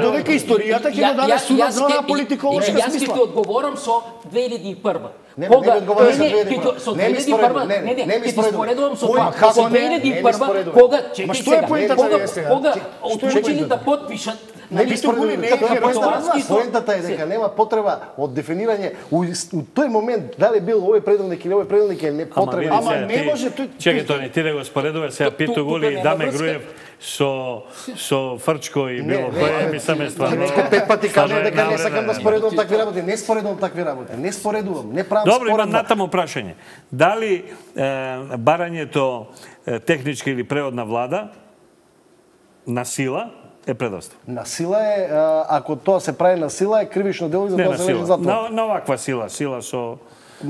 Додека историјата ќе го даде судот за онаа политиколошка смисла. Јас ќе ти одговорам со две илјади и прва. Не, не ми одговараш за две илјади и прва. Со две илјади и прва, не, не, не, ќе ти споредувам со тоа. Со две илјади и прва, кога, чекај сега, кога одлучили да потпишат Не би споредували, не е поентата е дека нема потреба од дефинирање у тој момент дали бил овој предавник или овој предавник е непотребен. Ама не може тој. Чекај Тони, ти да го споредуваш сега Пито Гули и Даме Груев со со Фрчко и било кој ми саме стварно. Пет пати кажам дека не сакам да споредувам такви работи, не споредувам такви работи, не споредувам, не правам споредба. Добро, имам натаму прашање. Дали барањето техничка или преводна влада на сила е предавство? На сила е, ако тоа се прави на сила, е кривично дело и за тоа се лежи затвор. На, на оваква сила, сила со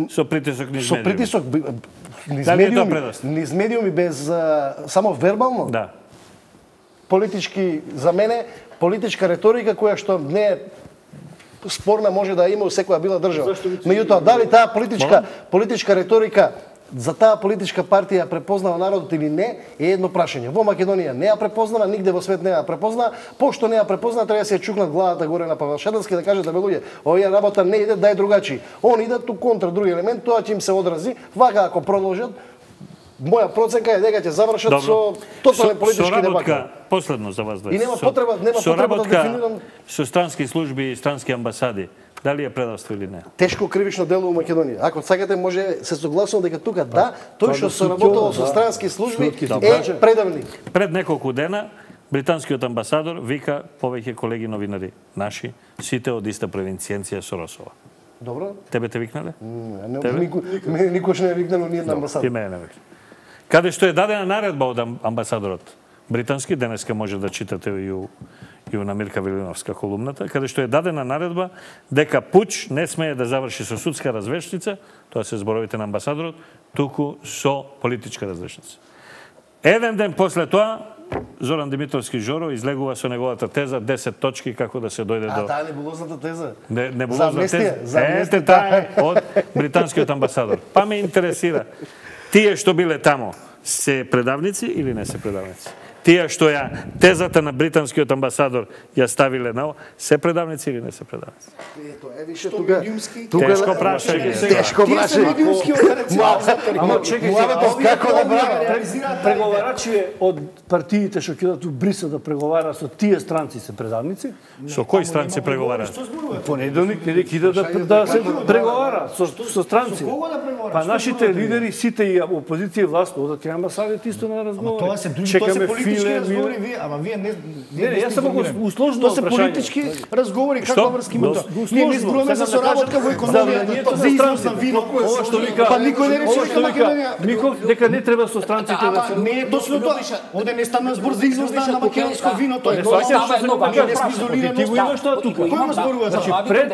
со притисок низ медиуми. Со притисок низ медиуми, низ медиуми без само вербално. Да. Политички за мене политичка реторика која што не е спорна може да има у секоја била држава. Меѓутоа дали таа политичка политичка реторика за таа политичка партија препознава народот или не е едно прашање. Во Македонија не ја препознава, нигде во свет не ја препознава. Пошто не ја препознава, треба да се ја чукнат главата горе на Павел Шадански да кажат да бе луѓе, овие работа не иде, дај другачи. Он идат у контра други елемент, тоа ќе им се одрази. Вака ако продолжат, моја проценка е дека ќе завршат Добро. Со тотален политички дебат. Последно за вас двајца. И нема потреба, нема потреба да дефинирам со странски служби и странски амбасади. Дали е предавство или не? Тешко кривично дело у Македонија. Ако сакате, може се согласувам дека тука да, тој што соработува со странски служби е предавник. Пред неколку дена британскиот амбасадор вика повеќе колеги новинари наши, сите од иста провинцијенција со Росова. Добро. Тебе те викнале? Мене никош не е викнало ни една амбасадор. И мене не викнале. Каде што е дадена наредба од амбасадорот британски, денеска може да читате и у и у Намирка Велиновска колумната, каде што е дадена наредба дека пуч не смее да заврши со судска развешница, тоа се зборовите на амбасадорот, туку со политичка развешница. Еден ден после тоа, Зоран Димитровски Жоро излегува со неговата теза десет точки како да се дојде до... А таа небулозната теза? Не, небулозна теза. Ете таа од британскиот амбасадор. Па ме интересира, тие што биле тамо, се предавници или не се предавници? Тие што ја тезата на британскиот амбасадор ја ставиле на, се предавници или не се предавници? Ето, е више тука... Тешко прашање. Тешко прашање. Ама чекајте, како да браво? Преговарачи од партиите што ќе дадат у Брисел да преговара со тие странци се предавници? Со кои странци преговараат? Понеделник не ќе да да се преговара со со странци. Па нашите лидери сите и опозиција и власт одат кај амбасадите исто на разговори. Тоа се други, тоа се политички разговори, вие, ама вие не не, не, јас само го усложнувам. Тоа се политички разговори, каква врска има тоа? Ние не зборуваме за соработка во економијата, за износ на вино. Ова што вика, па никој не рече дека Македонија Миков дека не треба со странците да се. Не е точно тоа. Оде не стана збор за износ на македонско вино, тоа е тоа едно ние не сме изолирани. Ти го имаш тоа тука. Кој го зборува за тоа? Пред,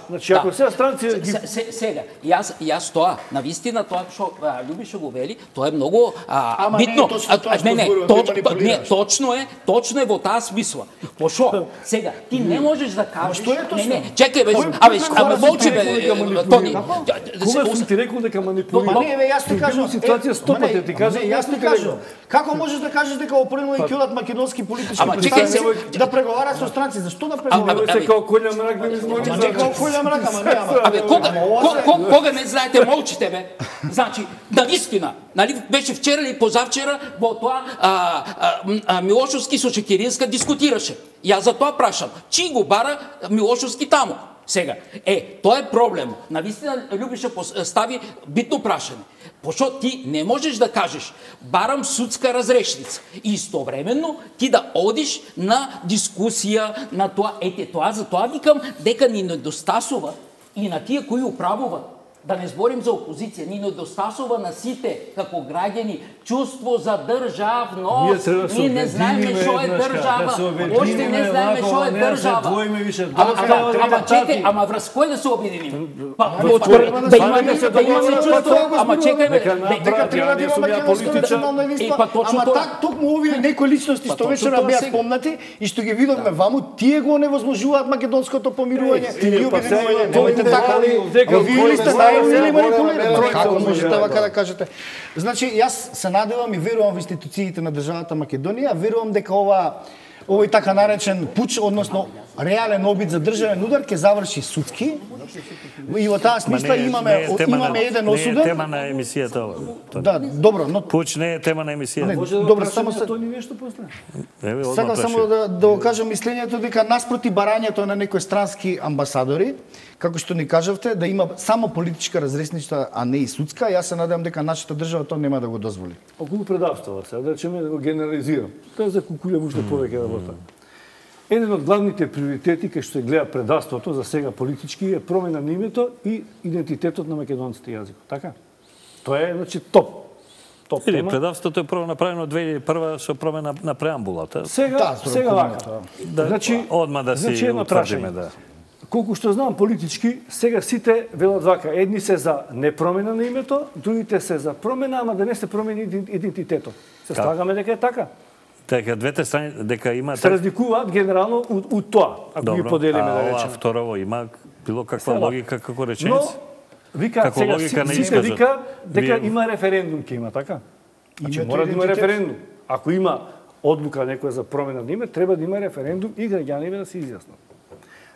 значи ако сега странци сега, јас јас тоа, навистина тоа што Љубиша го вели, тоа е многу битно. Не, не, Не, точно е, точно е во таа смисла. Пошо, сега ти не можеш да кажеш. Што е тоа? Не, не, чекај бе, абе, абе молчи бе, Тони. Кога сум ти рекол дека манипулира? Ма не, бе, јас ти кажам, ситуација сто пати ти кажам, јас ти кажам. Како можеш да кажеш дека во Поринова и ќелат македонски политички Ама, представници да преговараат со странци? Зашто да преговараат? Се као Колја мрак да ми измори. Ама не као Колја мрак, ама не, ама. Абе, кога, кога, кога не знаете, молчите бе. Значи, навистина, нали беше вчера или позавчера во тоа а, а, а, Милошовски со Чекиринска дискутираше. Јас за тоа прашам, чи го бара Милошовски таму? Сега, е, тоа е проблем. Навистина Љубиша стави битно прашање. Пошто ти не можеш да кажеш барам судска разрешница и истовременно ти да одиш на дискусија на тоа, ете тоа, за тоа викам дека ни недостасува и на тие кои управуваат. Да не зборим за опозиција, ни недостасува на сите како граѓани чувство за државност. Ние не знаеме што е држава. Оште не знаеме што е држава. Ама чекај, ама врз кој да се обединиме? Да имаме чувство, ама чекај бе, дека треба да имаме македонска национална листа. Ама так токму овие некои личности што вечера беа спомнати и што ги видовме ваму, тие го невозможуваат македонското помирување и обединување. Немојте така ли? Овие листа или манипулирате. Како можете вака да кажете? Значи, јас се надевам и верувам во институциите на државата Македонија, верувам дека ова овој така наречен пуч, односно реален обид за државен удар ќе заврши судски. И во таа смисла имаме имаме еден осуден. Не е тема на емисијата ова. Да, добро, но пуч не е тема на емисијата. Добро, само се Тони нешто после. Сакам само да да го кажам мислењето дека наспроти барањето на некои странски амбасадори, како што ни кажавте, да има само политичка разрешница, а не и судска, јас се надевам дека нашата држава тоа нема да го дозволи. Околу предавствува се, да речеме да го генерализирам. Тоа е за кукулја уште повеќе работа. Еден од главните приоритети кај што се гледа предавството за сега политички е промена на името и идентитетот на македонските јазикот, така? Тоа е, значи, топ. Топ Или тема. предавството е прво направено две илјади и прва со промена на преамбулата. Сега, Да, сега вака. Да, Значи, одма да значи си едно утврдиме, прашање. да. Колку што знам политички, сега сите велат вака. Едни се за непромена на името, другите се за промена, ама да не се промени идентитетот. Се слагаме дека е така. Дека двете страни, дека има... Се разликуваат генерално од, од тоа, ако ги поделиме, да ова речеме. второво има било каква Сега, логика како Но, реченица? вика, Како сега, логика на сите исказот. вика дека Вие- има референдум ќе има, така? Значи, Името мора да има идентитет. референдум. Ако има одлука некоја за промена на име, треба да има референдум и граѓаните да се изјаснат.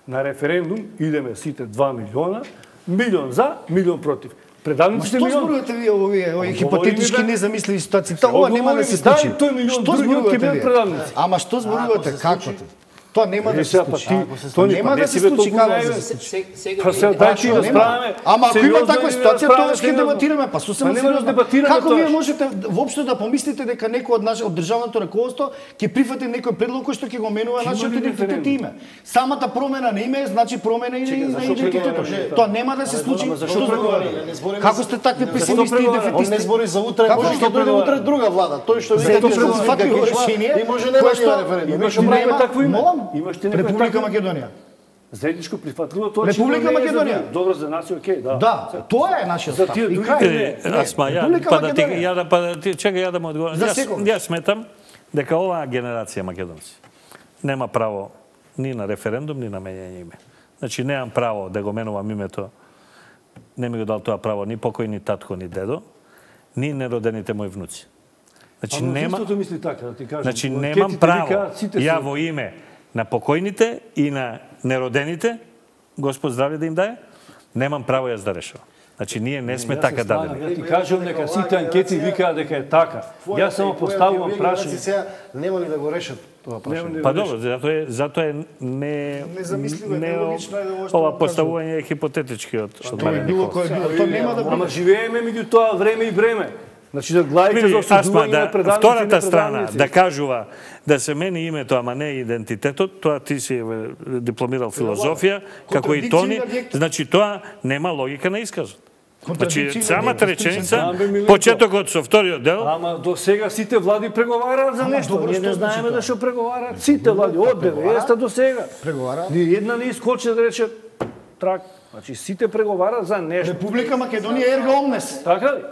На референдум идеме сите два милиона, милион за, милион против. Ма Предавниците што милион. зборувате вие овие овие хипотетички Говориме, бе. незамисливи ситуации? Тоа ова нема да се Говориме, случи. дај тој милион, Што другиот ќе зборувате бидат вие? предавници. Ама што зборувате? Како? Тоа нема да Е, се сега, па случи. ти, Ако се Тони, нема па да не се си бе случи, толку како да наивен. се случи? Па се дај ти Нема. расправаме. Ама ако има Сериозно таква или ситуација, расправаме тоа ќе сериозно? дебатираме, па сосема Па нема да сериозно. дебатираме Како тоа. вие можете воопшто да помислите дека некој од наш од државното раководство ќе прифати некој предлог кој што ќе го менува Ќе нашиот има ли идентитет и референдум? име? Самата промена на име значи промена и Чекај, на зашто идентитетот. преговараме? Тоа нема да се случи. Ама зашто Што преговараме? зборувате? Не збориме Како за- сте такви Зашто песимисти и преговараме? Он не дефетисти? збори за утре, Како може што да дојде преговараме? утре друга влада. Тој што вика Зато ќе што се фатило вика решение, и може нема кое да има што референдум. Имаш Имаш некој нема- такво име? молам? Имаш ти некој Република такво- Македонија. Заедничко прифатливо тоа Република не е за Македонија. добро за нас, окей, да. Да, тоа е нашиот За став. тие И други крај. не. Е, Асма, ја, Република па да ти, Македонија. ја да, па да ти, чекај ја да му одговорам. За Јас, секој. јас сметам дека оваа генерација македонци нема право ни на референдум, ни на менење име. Значи, немам право да го менувам името, не ми го дал тоа право ни покојни татко, ни дедо, ни неродените мои внуци. Значи, Ама нема... мнозинството мисли така, да ти кажам. Значи, Во немам анкетите право викаат, сите ја се- во име на покојните и на неродените, Господ здравје да им даде, немам право јас да решавам. Значи, ние не сме Јас така се слагам, дадени. Ја ти кажам дека сите анкети викаат дека е така. Јас само поставувам прашање. Сега нема ли да го решат тоа прашање? Па добро, затоа е, затоа е не... Незамисливо е, не нелогично е да ово што ова го поставување е хипотетички од од Тоа е мене. било кој е било. Тоа нема да Ама биде. живееме меѓу тоа време и време. Значи да главите за Види, Асма, осудување на да, предавници и втората страна непредавници. да кажува да се мени името, ама не идентитетот, тоа ти си е, дипломирал филозофија, како и Тони, значи тоа нема логика на исказот. Значи, Контрадикција на самата век, реченица, Знам, бе, Милето. почетокот со вториот дел, Ама до сега сите влади преговараат за нешто. добро, Ние што не значи знаеме тоа? да што преговараат. Сите влади од деветдесета до сега. Преговараат. Ни една не искочи да рече трак. Значи сите преговараат за нешто. Република Македонија ерга омнес. Така ли?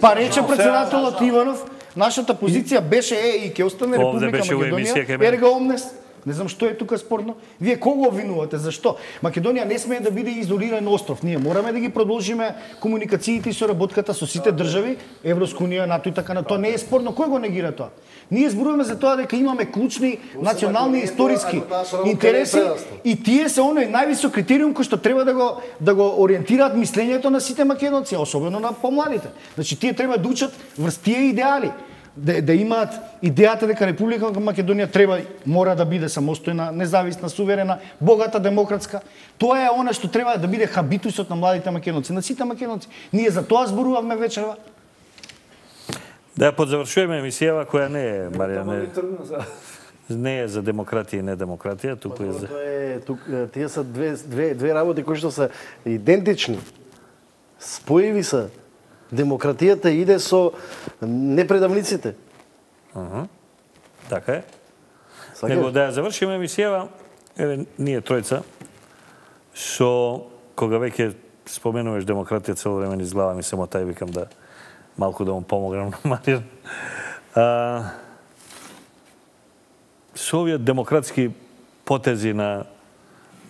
Па рече председателот Иванов Нашата позиција беше е и ќе остане Република Македонија. Ерга омнес. Не знам што е тука спорно. Вие кого обвинувате? Зашто? Македонија не смее да биде изолиран остров. Ние мораме да ги продолжиме комуникациите и соработката со сите држави, Европска унија, НАТО и така на тоа. Не е спорно. Кој го негира тоа? Ние зборуваме за тоа дека имаме клучни национални историски интереси и тие се оној највисок критериум кој што треба да го да го ориентираат мислењето на сите македонци, особено на помладите. Значи тие треба да учат врз тие идеали. Да, да имаат идејата дека Република Македонија треба, мора да биде самостојна, независна, суверена, богата, демократска. Тоа е она што треба да биде хабитусот на младите македонци, на сите македонци. Ние за тоа зборувавме вечерва. Да подзавршуваме емисијава која не е, Марија, не, не е за демократија и недемократија, туку е за... Е, тук, тие се две, две, две работи кои што се идентични. Споеви се. Демократијата иде со непредавниците. Ага. Така е. Него да ја завршиме емисијава, еве ние тројца, со кога веќе споменуваш демократија цело време низ глава ми се мота и викам да малку да му помогнам на Марија. А, со овие демократски потези на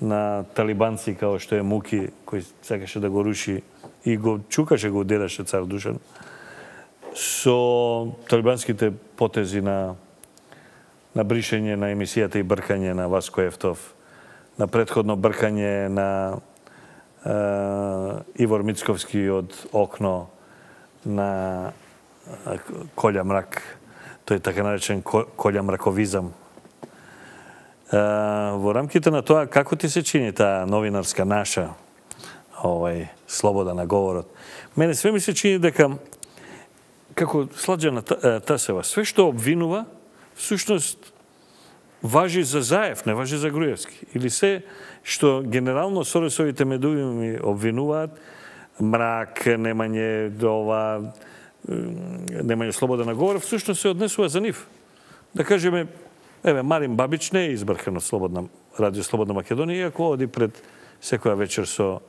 на талибанци као што е Муки, кој сакаше да го руши и го чукаше, го удараше цар Душан, со талибанските потези на на бришење на емисијата и бркање на Васко Ефтов, на претходно бркање на е, Ивор Мицковски од Окно, на Колја мрак, тој така наречен Колја мраковизам. Е, во рамките на тоа, како ти се чини таа новинарска наша овај слобода на говорот? Мене све ми се чини дека како Сладжана Тасева, све што обвинува, всушност важи за Заев, не важи за Груевски. Или се што генерално Соросовите медиуми обвинуваат, мрак, немање ова, немање слобода на говор, всушност се однесува за нив. Да кажеме, еве, Марин Бабич не е избркан од Слободна, Радио Слободна Македонија, иако оди пред секоја вечер со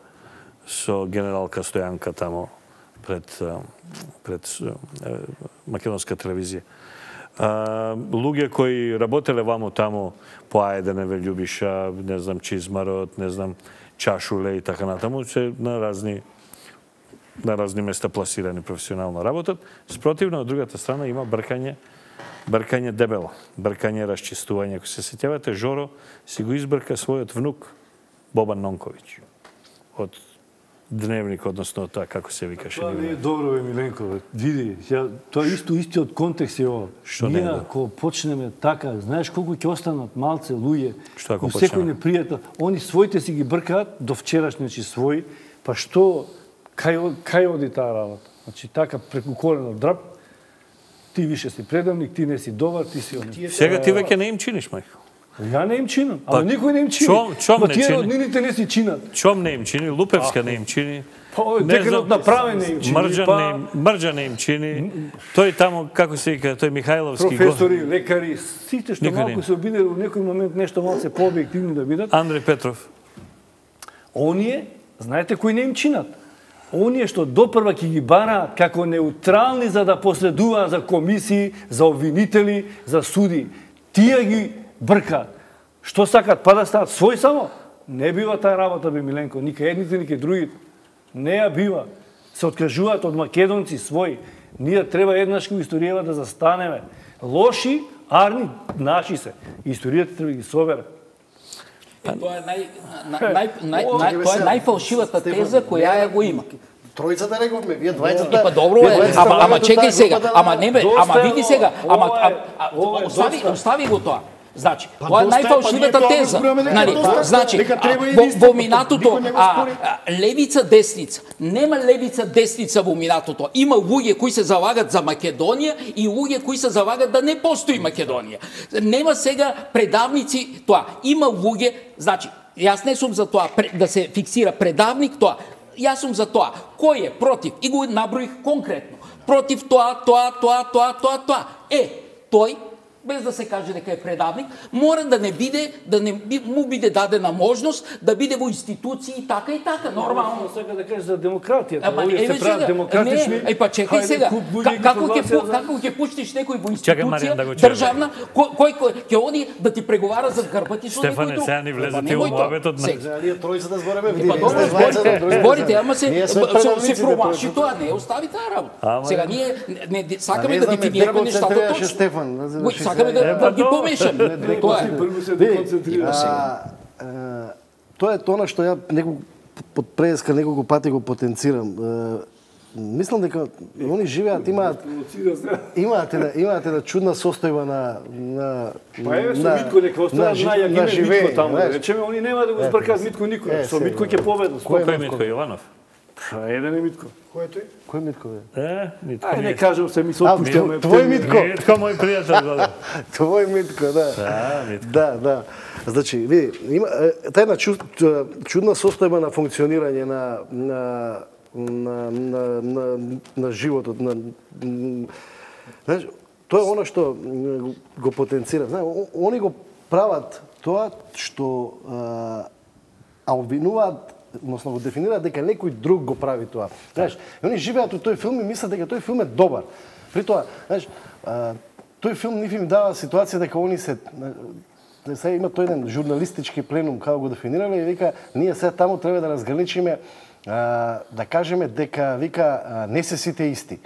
со генералка Стојанка тамо пред пред македонска телевизија. А, луѓе кои работеле вамо тамо по Ајденеве, Љубиша, не знам Чизмарот, не знам Чашуле и така натаму, се на разни на разни места пласирани професионално работат. Спротивно, од другата страна има бркање, бркање дебело, бркање расчистување. Ако се сеќавате, Жоро си го избрка својот внук Бобан Нонковиќ од Дневник, односно тоа како се викаше. Тоа не е добро, бе, Миленко. Види, ја, тоа исто истиот контекст е ова. Ние ако почнеме така, знаеш колку ќе останат малце луѓе, ако секој непријател, они своите си ги бркаат до вчерашни, значи свој, па што кај кај оди таа работа? Значи така преку колено драп, ти више си предавник, ти не си добар, ти си они. Сега ти веќе не им чиниш, мајко. Ја не им чинам, ама никој не им чини. Чом, чом Ма не тие чини? роднините не си чинат. Чом не им чини? Лупевска не им чини. Па овој деканот направен не им чини. Мрđan па... не им, Мрđan не им чини. Тој тамо, како се вика, тој Михајловски... Професори, лекари, сите што Никој малку се обиде во некој момент нешто малце пообјективни да бидат. Андреј Петров. Оние, знаете кои не им чинат? Оние што допрва ќе ги бараат како неутрални за да последуваат за комисии, за обвинители, за суди. Тие ги бркаат. Што сакат, па да стават свој само? Не бива таа работа, бе, Миленко. Ника едните, ника другите. Не ја бива. Се откажуваат од македонци своји. Ние треба еднаш во историјава да застанеме. Лоши, арни, наши се. Историјата треба да ги собере. Тоа е нај, нај, нај, нај, тоа е најфалшивата теза која ја го има. Тројцата рековме, вие двајцата. Па добро е, ама ама чекај сега, ама не бе, ама види сега, ама остави остави го тоа. Значи, тоа е најфалшивата теза. Нали, значи, во, во минатото а, левица десница, нема левица десница во минатото. Има луѓе кои се залагат за Македонија и луѓе кои се залагат да не постои Македонија. Нема сега предавници тоа. Има луѓе, значи, јас не сум за тоа да се фиксира предавник тоа. Јас сум за тоа. Кој е против? И го наброих конкретно. Против тоа, тоа, тоа, тоа, тоа, тоа. Е, тој без да се каже дека е предавник, мора да не биде, да не му биде дадена можност да биде во институции и така и така, нормално. Сака да кажеш за демократијата, Ама овие се прават демократични. Не, е па чекај сега, како ќе како ќе пуштиш некој во институција државна, кој кој ќе оди да ти преговара за грбати со некој друг? Стефане, сега ни влезете во муабетот на. Ние тројцата збореме, видите. Зборите, ама се се промаши тоа, не остави таа работа. Сега ние не сакаме да дефинираме нештата точно. Стефан, сакаме да ги помешаме. Тоа е. Прво се концентрира сега. Тоа е тоа што ја неколку под преска неколку пати го потенцирам. Мислам дека они живеат, имаат имаат една имаат една чудна состојба на на Па еве со Митко дека остават најагиме Митко таму. Речеме они нема да го збркаат Митко никој. Со Митко ќе победат. Кој е Митко Јованов? Еден е Митко. Кој е тој? Кој Митко е? Е, Митко. Ај не кажам се ми се отпуштаме. Твој Митко. Митко мој пријател годе. Твој Митко, да. Да, Митко. Да, да. Значи, види, има таа една чудна состојба на функционирање на на на на на, на животот, на знаеш, тоа е она што го потенцира. Знаеш, они го прават тоа што а обвинуваат, односно го дефинираат дека некој друг го прави тоа. Знаеш, они живеат во тој филм и мислат дека тој филм е добар. При тоа, знаеш, тој филм ниф им дава ситуација дека они се сега има тој еден журналистички пленум како го дефинирале и вика ние сега таму треба да разграничиме да кажеме дека вика не се сите исти.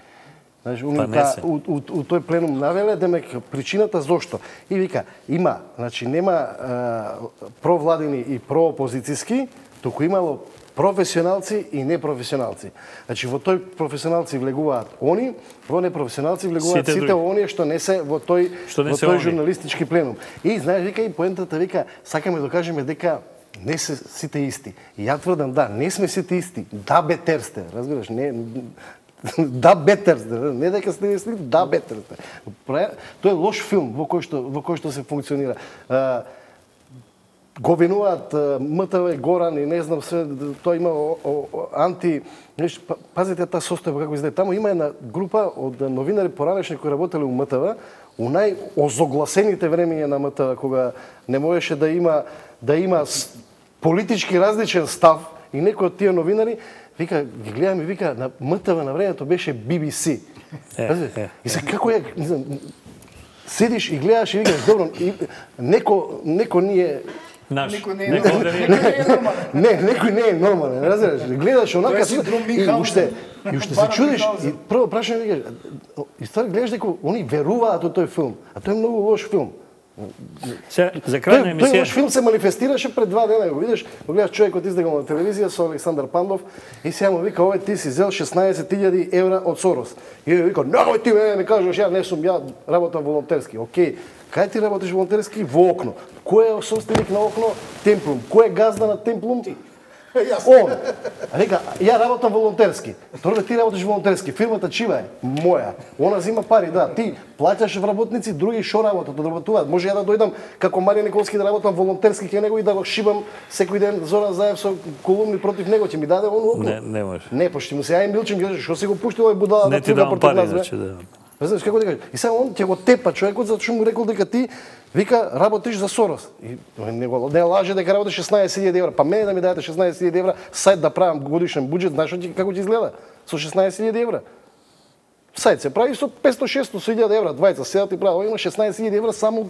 Значи, уни та, у, у, у тој пленум навеле демек причината зошто. И вика има, значи нема а, провладини и проопозицијски, туку имало професионалци и непрофесионалци. Значи во тој професионалци влегуваат они, во непрофесионалци влегуваат сите, сите оние што не се во тој што во тој журналистички пленум. И знаеш вика и поентата вика сакаме да кажеме дека не се сите исти. И ја тврдам да, не сме сите исти. Да бетер сте, разбираш, не да бетер сте, не дека сте исти, да бетер сте. Тоа е лош филм во кој што во кој што се функционира. Го винуваат МТВ, Горан и не знам се, тоа има о, о, анти... Пазите таа состојба како изгледа. Таму има една група од новинари поранешни кои работеле у МТВ, у најозогласените времења на МТВ, кога не можеше да има да има политички различен став и некои од тие новинари, вика, ги гледам и вика, на МТВ на времето беше Би Би Си. Е, е, и се како е, не знам, седиш и гледаш и викаш, добро, и, неко, неко ние Наш. Некој не е нормален. Не, некој не е нормален, разбираш? Гледаш онака и уште и уште се чудиш и прво прашање викаш, и ствари гледаш дека они веруваат во тој филм, а тој е многу лош филм. Се, за крај на емисија... Тој лош филм се манифестираше пред два дена, го видиш, го гледаш човекот издегал на телевизија со Александар Пандов и сега му вика, овој ти си зел шеснаесет илјади евра од Сорос. И вика, немој ти мене, не кажеш, ја не сум, ја работам волонтерски. Океј, кај ти работиш волонтерски? Во Окно. Кој е собственик на Окно? Темплум. Кој е газда на Темплум? Ти. Он. А вика, ја работам волонтерски. Торбе, ти работиш волонтерски. Фирмата чива е? Моја. Она зима пари, да. Ти плаќаш вработници, други шо работат, да работуваат. Може ја да дојдам како Марија Николски да работам волонтерски кај него и да го шибам секој ден Зоран Заев со колумни против него, ќе ми даде он Окно. Не, не може. Не, пошто му се ја и Милчин ги што се го пушти овој будала да ти дам пари, значи да. Знаеш како да кажеш? И сега он ќе го тепа човекот затоа што му рекол дека ти вика работиш за Сорос. И не го не лаже дека работиш шеснаесет илјади евра. Па мене да ми дадете шеснаесет илјади евра, сајт да правам годишен буџет, знаеш како ќе изгледа со шеснаесет илјади евра. Сајт се прави со петстотини шестоста илјади евра, двајца седат и прават. Има шеснаесет илјади евра само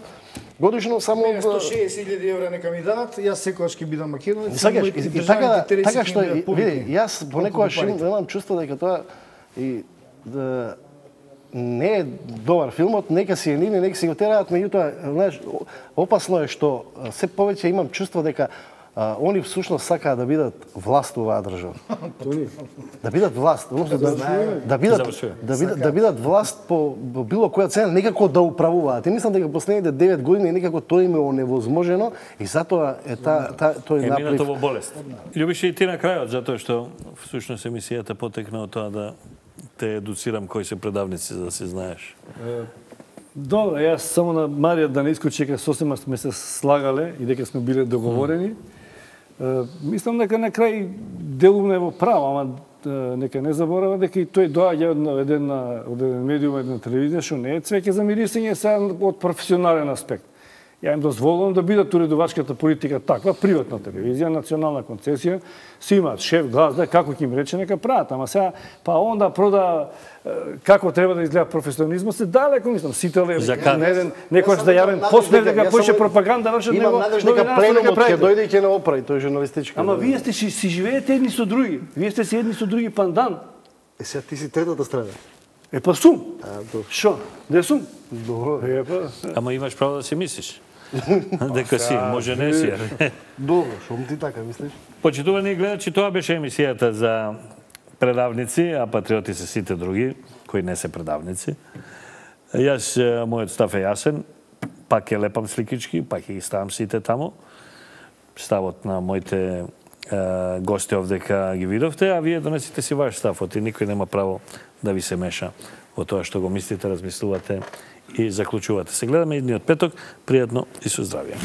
годишно, само сто шеесет илјади евра нека ми дадат, јас секогаш ќе бидам македонец. Сакаш и така така што види, јас понекогаш имам чувство дека тоа и да не е добар филмот, нека си е нивни, нека си го тераат, меѓутоа, знаеш, опасно е што се повеќе имам чувство дека а, они всушност сакаат да бидат власт во оваа држава. Да бидат власт, односно да, да бидат да бидат да бидат власт по, по било која цена, некако да управуваат. И мислам дека последните девет години некако тоа им е оневозможено и затоа е та, та тој наплив. Е минато во болест. Љубише и ти на крајот, затоа што всушност емисијата потекна од тоа да те едуцирам кои се предавници, за да си знаеш. Добро, јас само на Марија да не искочи дека сосема сме се слагале и дека сме биле договорени. Мислам дека на крај делумне во право, ама нека не заборава дека и тој доаѓа од еден, од еден медиум, една телевизија, што не е цвеќе за мирисење, сега од професионален аспект. Ја им дозволувам да бидат уредувачката политика таква, приватна телевизија, национална концесија, си имаат шеф, глазда, како ќе им рече, нека прават. Ама сега, па онда прода како треба да изгледа професионализмот, се далеко, мислам, сите леви. На еден, некојаш да јавен посмев дека поише пропаганда, вршат него. Имам надеж дека пленумот ќе дојде и ќе не оправи тој журналистички. Ама вие сте си, си живеете едни со други. Вие сте си едни со други пандан. Е, сега ти си третата страна. Е, па сум. Шо? Де сум? Добро. Е, па. Ама имаш право да си мислиш. Дека си, може не си. Добро, шом ти така мислиш? Почитувани гледачи, тоа беше емисијата за предавници, а патриоти се сите други, кои не се предавници. Јас, мојот став е јасен, пак ќе лепам сликички, пак ќе ги ставам сите таму. Ставот на моите е, гости овдека ги видовте, а вие донесите си ваш ставот и никој нема право да ви се меша во тоа што го мислите, размислувате и заклучувате. Се гледаме идниот петок. Пријатно и со здравје.